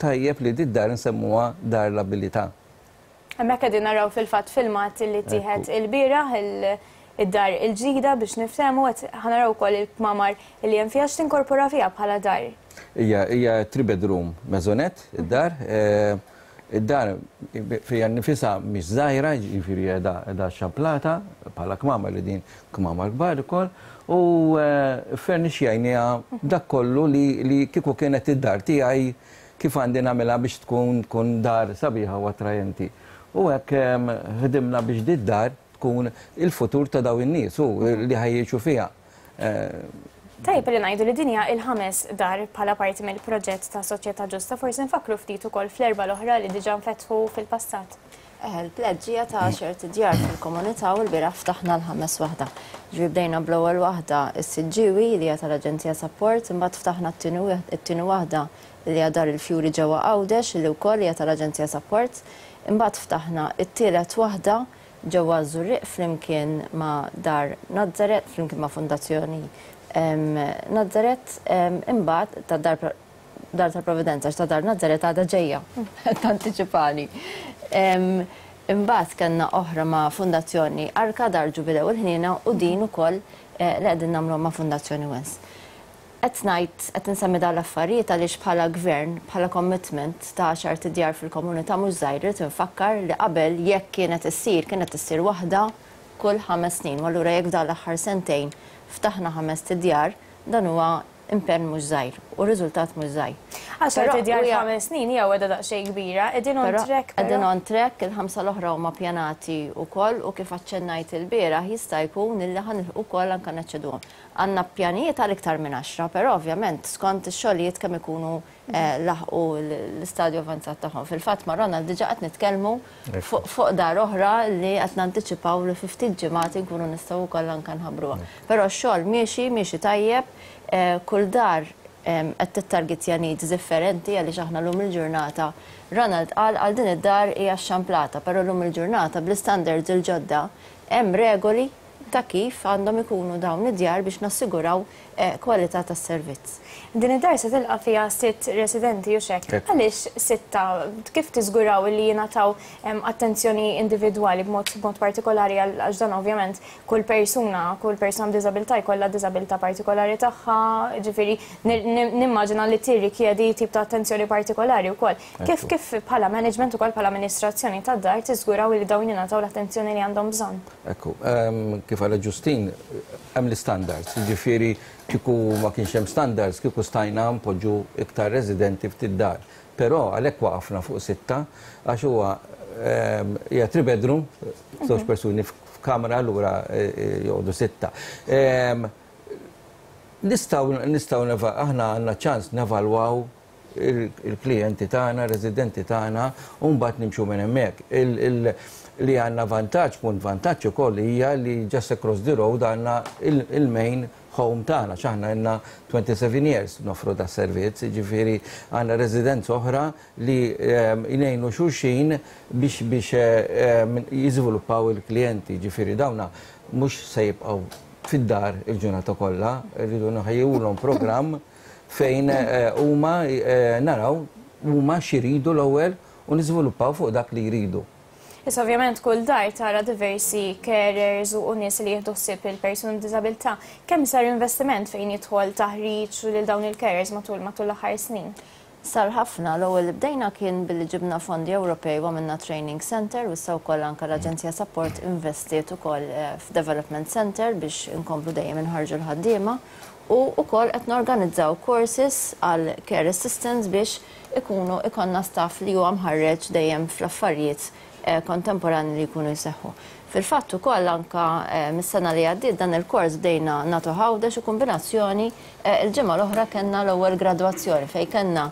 tajjeb li di dar nsemmuha dar l-abilità. Hemmhekk qegħdin naraw fil-fatt filmat li tieħed il-bieraħ id-dar il-ġdida biex niftehmu qed ħanaraw ukoll il-kmamar li hemm fiha x'tinkorpora fiha bħala dar. Hija hija three bedroom maisonette id-dar. Id-dar fija nifisha mhix żgħira, jiġifieri qiegħda xamplata bħala kmamar li din kmamar kbar ukoll u furnixjajniha dak kollu li kieku kienet id-dar tiegħi kif għandi nagħmilha biex tkun tkun dar sabiħa u attrajenti. U hekk ħdimna biex di dar tkun il-futur ta' daw in-nies u li ħa jgħixu fiha. Tajjeb li ngħidu li din hija il-ħames dar bħala parti mill-proġett ta' Soċjetà Ġusta, forsi nfakru ftit ukoll fl-erba' l-oħra li diġà nfetħu fil-passat. Eh, il-pledge ta' għaxart idjar fil-komunità u l-bieraħ ftaħna l-ħames waħda. Ġifieri bdejna bl-ewwel waħda is-Siġġiewi li hija tal-Aġenzija Support, imbagħad ftaħna t-tieni waħda li hija Dar il-Fjuri ġewwa Għawdex li wkoll hija tal-Aġenzija Support, imbagħad ftaħna t-tielet waħda ġewwa Żurrieq flimkien ma' Dar Nazzaret, flimkien ma' Fondazzjoni Nazzaret, imbagħad ta' Dar Dar tal-Providenza, ta' Dar Nazzaret għadha ġejja, tantiċipani. Imbagħad kellna oħra ma' Fondazzjoni Arka Dar Ġubilew il-Ħniena u din ukoll li qegħdin nagħmlu ma' Fondazzjoni Wens. Qed ngħid qed insemmi dawn l-affarijiet għaliex bħala gvern, bħala commitment ta' għaxart idjar fil-komunità mhux żgħir, irid infakkar li qabel jekk kienet issir, kienet issir waħda kull ħames snin. U allura jekk f'dawn l-aħħar sentejn ftaħna ħames tidjar, dan huwa impenn mhux żgħir u riżultat mhux żgħir. Għaxar tidjar f'ħames snin hija weda daqsxejn kbira, qegħdin on track. Qegħdin on track, il-ħamsa l-oħra huma pjanati wkoll u kif aċċennajt il-bieraħ jista' jkun illi ħa nilħqu wkoll anke neċċeduhom. Għandna pjanijiet għal iktar minn għaxra, però ovvjament skont ix-xogħlijiet kemm ikunu laħqu l-istadju avanzat tagħhom. Fil-fatt ma' Ronald diġà qed nitkellmu fuq dar oħra li qed nantiċipaw li fi ftit ġimgħat inkunu nistgħu wkoll anke nħabbruha. Però x-xogħol miexi, miexi tajjeb, kull dar qed tittargetja needs differenti għaliex aħna llum il-ġurnata Ronald qal għal din id-dar hija xxamplata, però llum il-ġurnata bl-istandards il-ġodda hemm regoli ta' kif għandhom ikunu dawn id-djar biex nassiguraw kwalità tas-servizz. Din id-dar se tilqa' fiha sitt residenti u xek. Għaliex sitta? Kif tiżguraw li jingħataw attenzjoni individwali b'mod partikolari għax dan ovvjament kull persuna, kull persuna b'diżabilità jkollha diżabilità partikolari tagħha, ġifieri nimmaġina li tirrikjedi tip ta' attenzjoni partikolari wkoll. Kif kif bħala management ukoll bħala amministrazzjoni tad-dar tiżguraw li dawn jingħataw l-attenzjoni li għandhom bżonn? Ekku, kif għala Ġustin, hemm l-istandards, ġifieri kieku ma kienx hemm standards, kieku stajna npoġġu iktar residenti ftit dar. Però għalhekk waqafna fuq sitta għax huwa hija three bedroom, żewġ persuni f'kamra allura joqogħdu sitta. Nistgħu nistgħu aħna għandna ċans nevalwaw il-klijenti tagħna, residenti tagħna, u mbagħad nimxu minn hemmhekk. Li għandna vantaġġ, punt vantaġġ ukoll hija li just across the road għandna il-main home tagħna, x'aħna għandna twenty-seven years nofru da servizz, ġifieri għandna residenza oħra li jgħinu xulxin biex biex jiżviluppaw il-klijenti, ġifieri dawna mhux se jibqgħu fid-dar il-ġurnata kollha, rridu nħejjulhom programm fejn huma naraw huma x'iridu l-ewwel u niżviluppaw fuq dak li jridu. Issa ovvjament kull dar tara diversi carers u nies li jieħdu ħsieb il-persuni b'diżabilità. Kemm sar investiment fejn jidħol taħriġ lil dawn il-carers matul matul l-aħħar snin? Sar ħafna. L-ewwel li bdejna kien billi ġibna fondi Ewropej u għamilna training center u issa wkoll anke l-Aġenzija Support investiet ukoll f'development center biex inkomplu dejjem inħarġu l-ħaddiema u wkoll qed norganizzaw courses għal care assistants biex ikunu ikonna staff li huwa mħarreġ dejjem fl-affarijiet kontemporani li jkunu jseħħu. Fil-fatt ukoll anke mis-sena li għaddiet dan il-kors bdejna nagħtu Għawdex u kombinazzjoni il-ġimgħa l-oħra kellna l-ewwel gradwazzjoni fejn kellna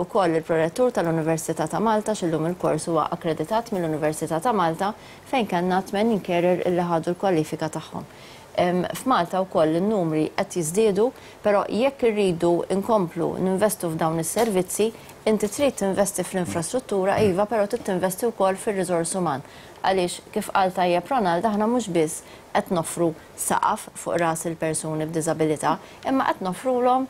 ukoll il-prorettur tal-Università ta' Malta x'illum il-kors huwa akkreditat mill-Università ta' Malta fejn kellna tmenin carer illi ħadu l-kwalifika tagħhom. F'Malta wkoll in-numri qed jiżdiedu, però jekk irridu nkomplu ninvestu f'dawn is-servizzi, inti trid tinvesti fl-infrastruttura iva, però trid tinvesti wkoll fir-riżors uman. Għaliex kif qal tajjeb Ronald, aħna mhux biss qed noffru saqaf fuq ras il-persuni b'diżabilità, imma qed noffrulhom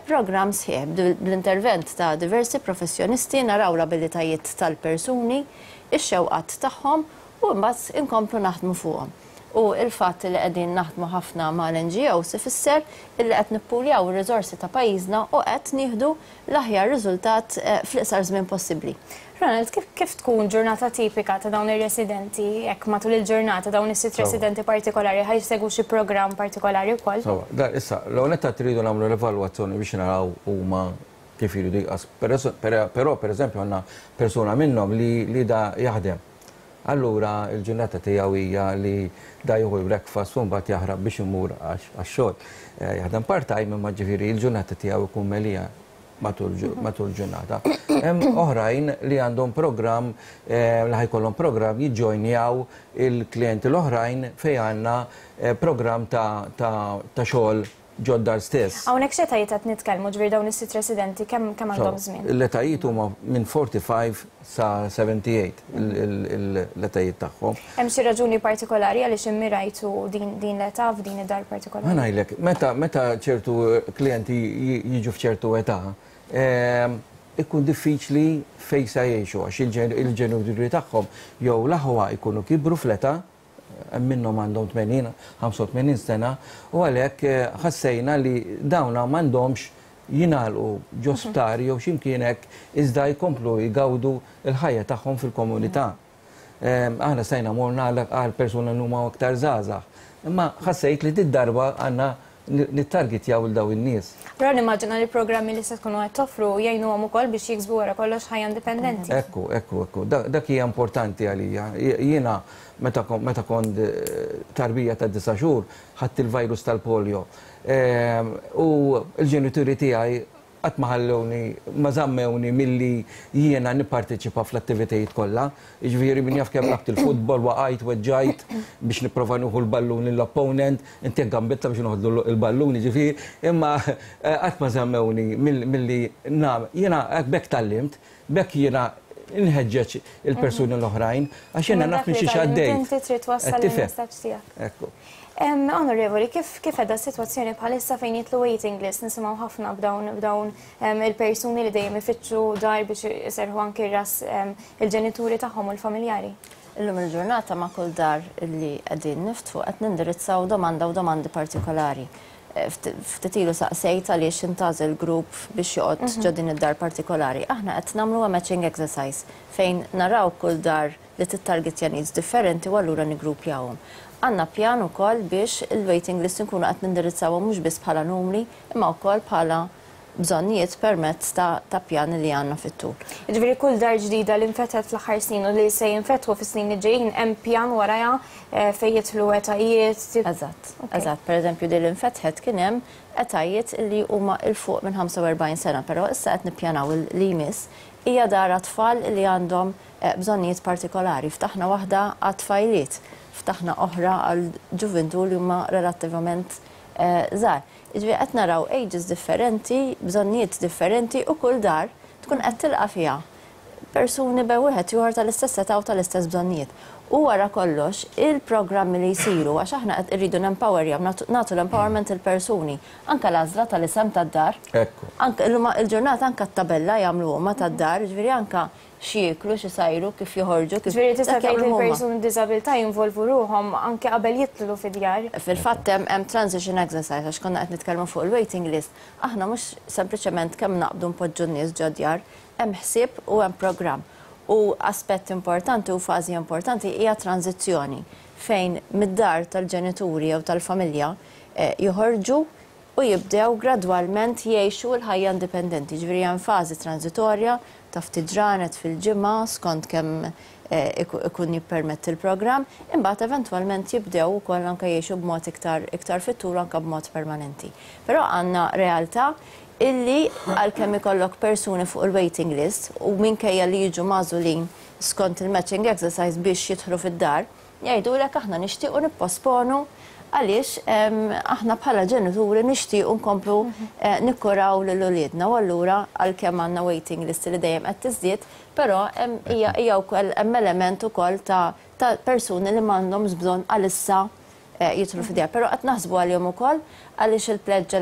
programm sħiħ bl-intervent ta' diversi professjonisti naraw l-abilitajiet tal-persuni, ix-xewqat tagħhom u mbagħad inkomplu naħdmu fuqhom. U il-fatt li qegħdin naħdmu ħafna mal-N G Os ifisser illi qed nippuljaw ir-riżorsi ta' pajjiżna u qed nieħdu l-aħjar riżultat fl-iqsar żmien possibbli. Ronald, kif, kif tkun ġurnata tipika ta' dawn ir-residenti, jekk matul il-ġurnata dawn is-sitt residenti partikolari ħaj jsegwu xi programm partikolari wkoll? Sawa, da issa, l-ewwel netta tridu nagħmlu l-evalwazzjoni biex naraw huma kif iridu jqas. Però pereżempju għandna persuna minnhom li, li da jaħdem. Allura il-ġurnata tiegħu hija li da jieħu l-breakfast u mbagħad jaħrab biex imur għax-xogħol. Jaħdem part-time, imma ġifieri il-ġurnata tiegħu jkun melija matul ġurnata. Hemm oħrajn li għandhom programm, li ħa jkollhom programm jiġġojnjaw il-klijenti l-oħrajn fejn għandna programm ta' xogħol ġod-dar stess. Hawnhekk x'etajiet qed nitkellmu, ġifieri dawn is-sitt residenti kemm kemm għandhom żmien? L-etajiet huma minn forty-five sa seventy-eight l-etajiet tagħhom. Hemm xi raġuni partikolari għaliex immirajtu din din l-età f'din id-dar partikolari? Ma ngħidlek, meta meta ċertu klijenti jiġu f'ċertu età, ikun diffiċli fejn sa jgħixu għax il-ġenituri tagħhom jew l-aħwa jkunu kibru fl-età, minnhom għandhom tmenin, ħamsa u tmenin sena, u għalhekk ħassejna li dawna m'għandhomx jingħalqu ġo sptar jew x'imkien hekk, iżda jkomplu jgawdu l-ħajja tagħhom fil-komunità. Aħna stajna morna għal persuna li huma aktar żgħażagħ, imma ħassejt li did-darba għandna nittargetjaw il daw in-nies. Però nimmaġina li l-programmi li se tkunu qed toffru jgħinuhom ukoll biex jiksbu wara kollox ħajja indipendenti. Ekku, ekku, ekku. Dak hija importanti għalija. Jiena meta kont tarbija ta' disa' xhur ħadt il-virus tal-polio. U l-ġenituri tiegħi qatt ma ħallewni, ma żammewni milli jiena nipparteċipa fl-attivitajiet kollha. Jiġifieri min jaf kemm lgħabt il-futbol, waqajt, weġġajt biex nipprova nieħu l-ballun lill-opponent, inti gambitta biex noħodlu l-ballun, jiġifieri, imma qatt ma żammewni milli nagħmel. Jiena b'hekk tgħallimt, b'hekk jiena nħeġġeġ il-persuni l-oħrajn, għax jiena naf minn xi għaddejt. Inti trid twassal il-messaġġ tiegħek. Ekku. Onorevoli, kif kif edha s-sitwazzjoni bħalissa fejn jitlu waiting list, nisimgħu ħafna b'dawn b'dawn il-persuni li dejjem ifittxu dar biex iserħu anki ras il-ġenituri tagħhom u l-familjari? Illum il-ġurnata ma' kull dar li qegħdin niftħu qed nindirizzaw domanda u domandi partikolari. Ftit ilu saqsejt għaliex intgħażel grupp biex joqgħod ġo din id-dar partikolari. Aħna qed nagħmlu matching exercise fejn naraw kull dar li tittargetja needs differenti u allura niggrupjawhom. Għandna pjan ukoll biex il-waiting list nkunu qed nindirizzawhom mhux biss bħala numri imma wkoll bħala bżonnijiet permezz ta' pjan li għandna fit-tul. Jiġifieri kull dar ġdida li nfetħet fl-aħħar snin u li se jinfetħu fis-snin li ġejjin hemm pjan warajha fejn jidħlu etajiet. Eżatt, eżatt. Pereżempju din li nfetħet kien hemm etajiet li huma 'l fuq minn ħamsa u erbgħin sena, però issa qed nippjanaw li jmiss hija dar għat-tfal li għandhom bżonnijiet partikolari. Ftaħna waħda għat-tfajliet, ftaħna oħra għal ġuventu li huma relattivament żgħar. Jiġifieri qed naraw ages differenti, bżonnijiet differenti u kull dar tkun qed tilqa' fiha persuni bejn wieħed ieħor tal-istess età u tal-istess bżonnijiet. U wara kollox il-programmi li jsiru għax aħna qed irridu nempowerjaw, nagħtu l-empowerment il-persuni, anke l-għażla tal-isem tad-dar. Ekku. Anke il-ġurnata anke t-tabella jagħmlu huma tad-dar, jiġifieri anke x'jieklu, x'isajru, kif joħorġu, kif Ġifieri tista' dak tgħid li jagħmlu huma. l-persuni b'diżabilità jinvolvu ruhom anke qabel jidħlu fid-djar. Fil-fatt hemm hemm transition exercise għax konna qed nitkellmu fuq il-waiting list. Aħna mhux sempliċement kemm naqbdu npoġġu n-nies ġo djar, hemm ħsieb u hemm programm. U aspett importanti u fażi importanti hija tranzizzjoni fejn mid-dar tal-ġenituri jew tal-familja joħorġu u jibdew gradwalment jgħixu l-ħajja indipendenti. Ġifieri hemm fażi transitorja ta' ftit ġranet fil-ġimgħa skont kemm ikun jippermetti l-programm, imbagħad eventwalment jibdew ukoll anke jgħixu b'mod iktar iktar fit-tul anke b'mod permanenti. Però għandna realtà illi għalkemm ikollok persuni fuq il-waiting list u minkejja li jiġu magħżulin skont il-matching exercise biex jidħlu fid-dar, jgħidulek aħna nixtiequ nipposponu għaliex aħna bħala ġenituri nixtiequ nkomplu nikkuraw lil uliedna u allura għalkemm għandna waiting list li dejjem qed tiżdied, però hija hija wkoll hemm element ukoll ta' ta' persuni li m'għandhomx bżonn għalissa jidħlu fid-dar. Però qed naħsbu għalihom ukoll għaliex il-pledge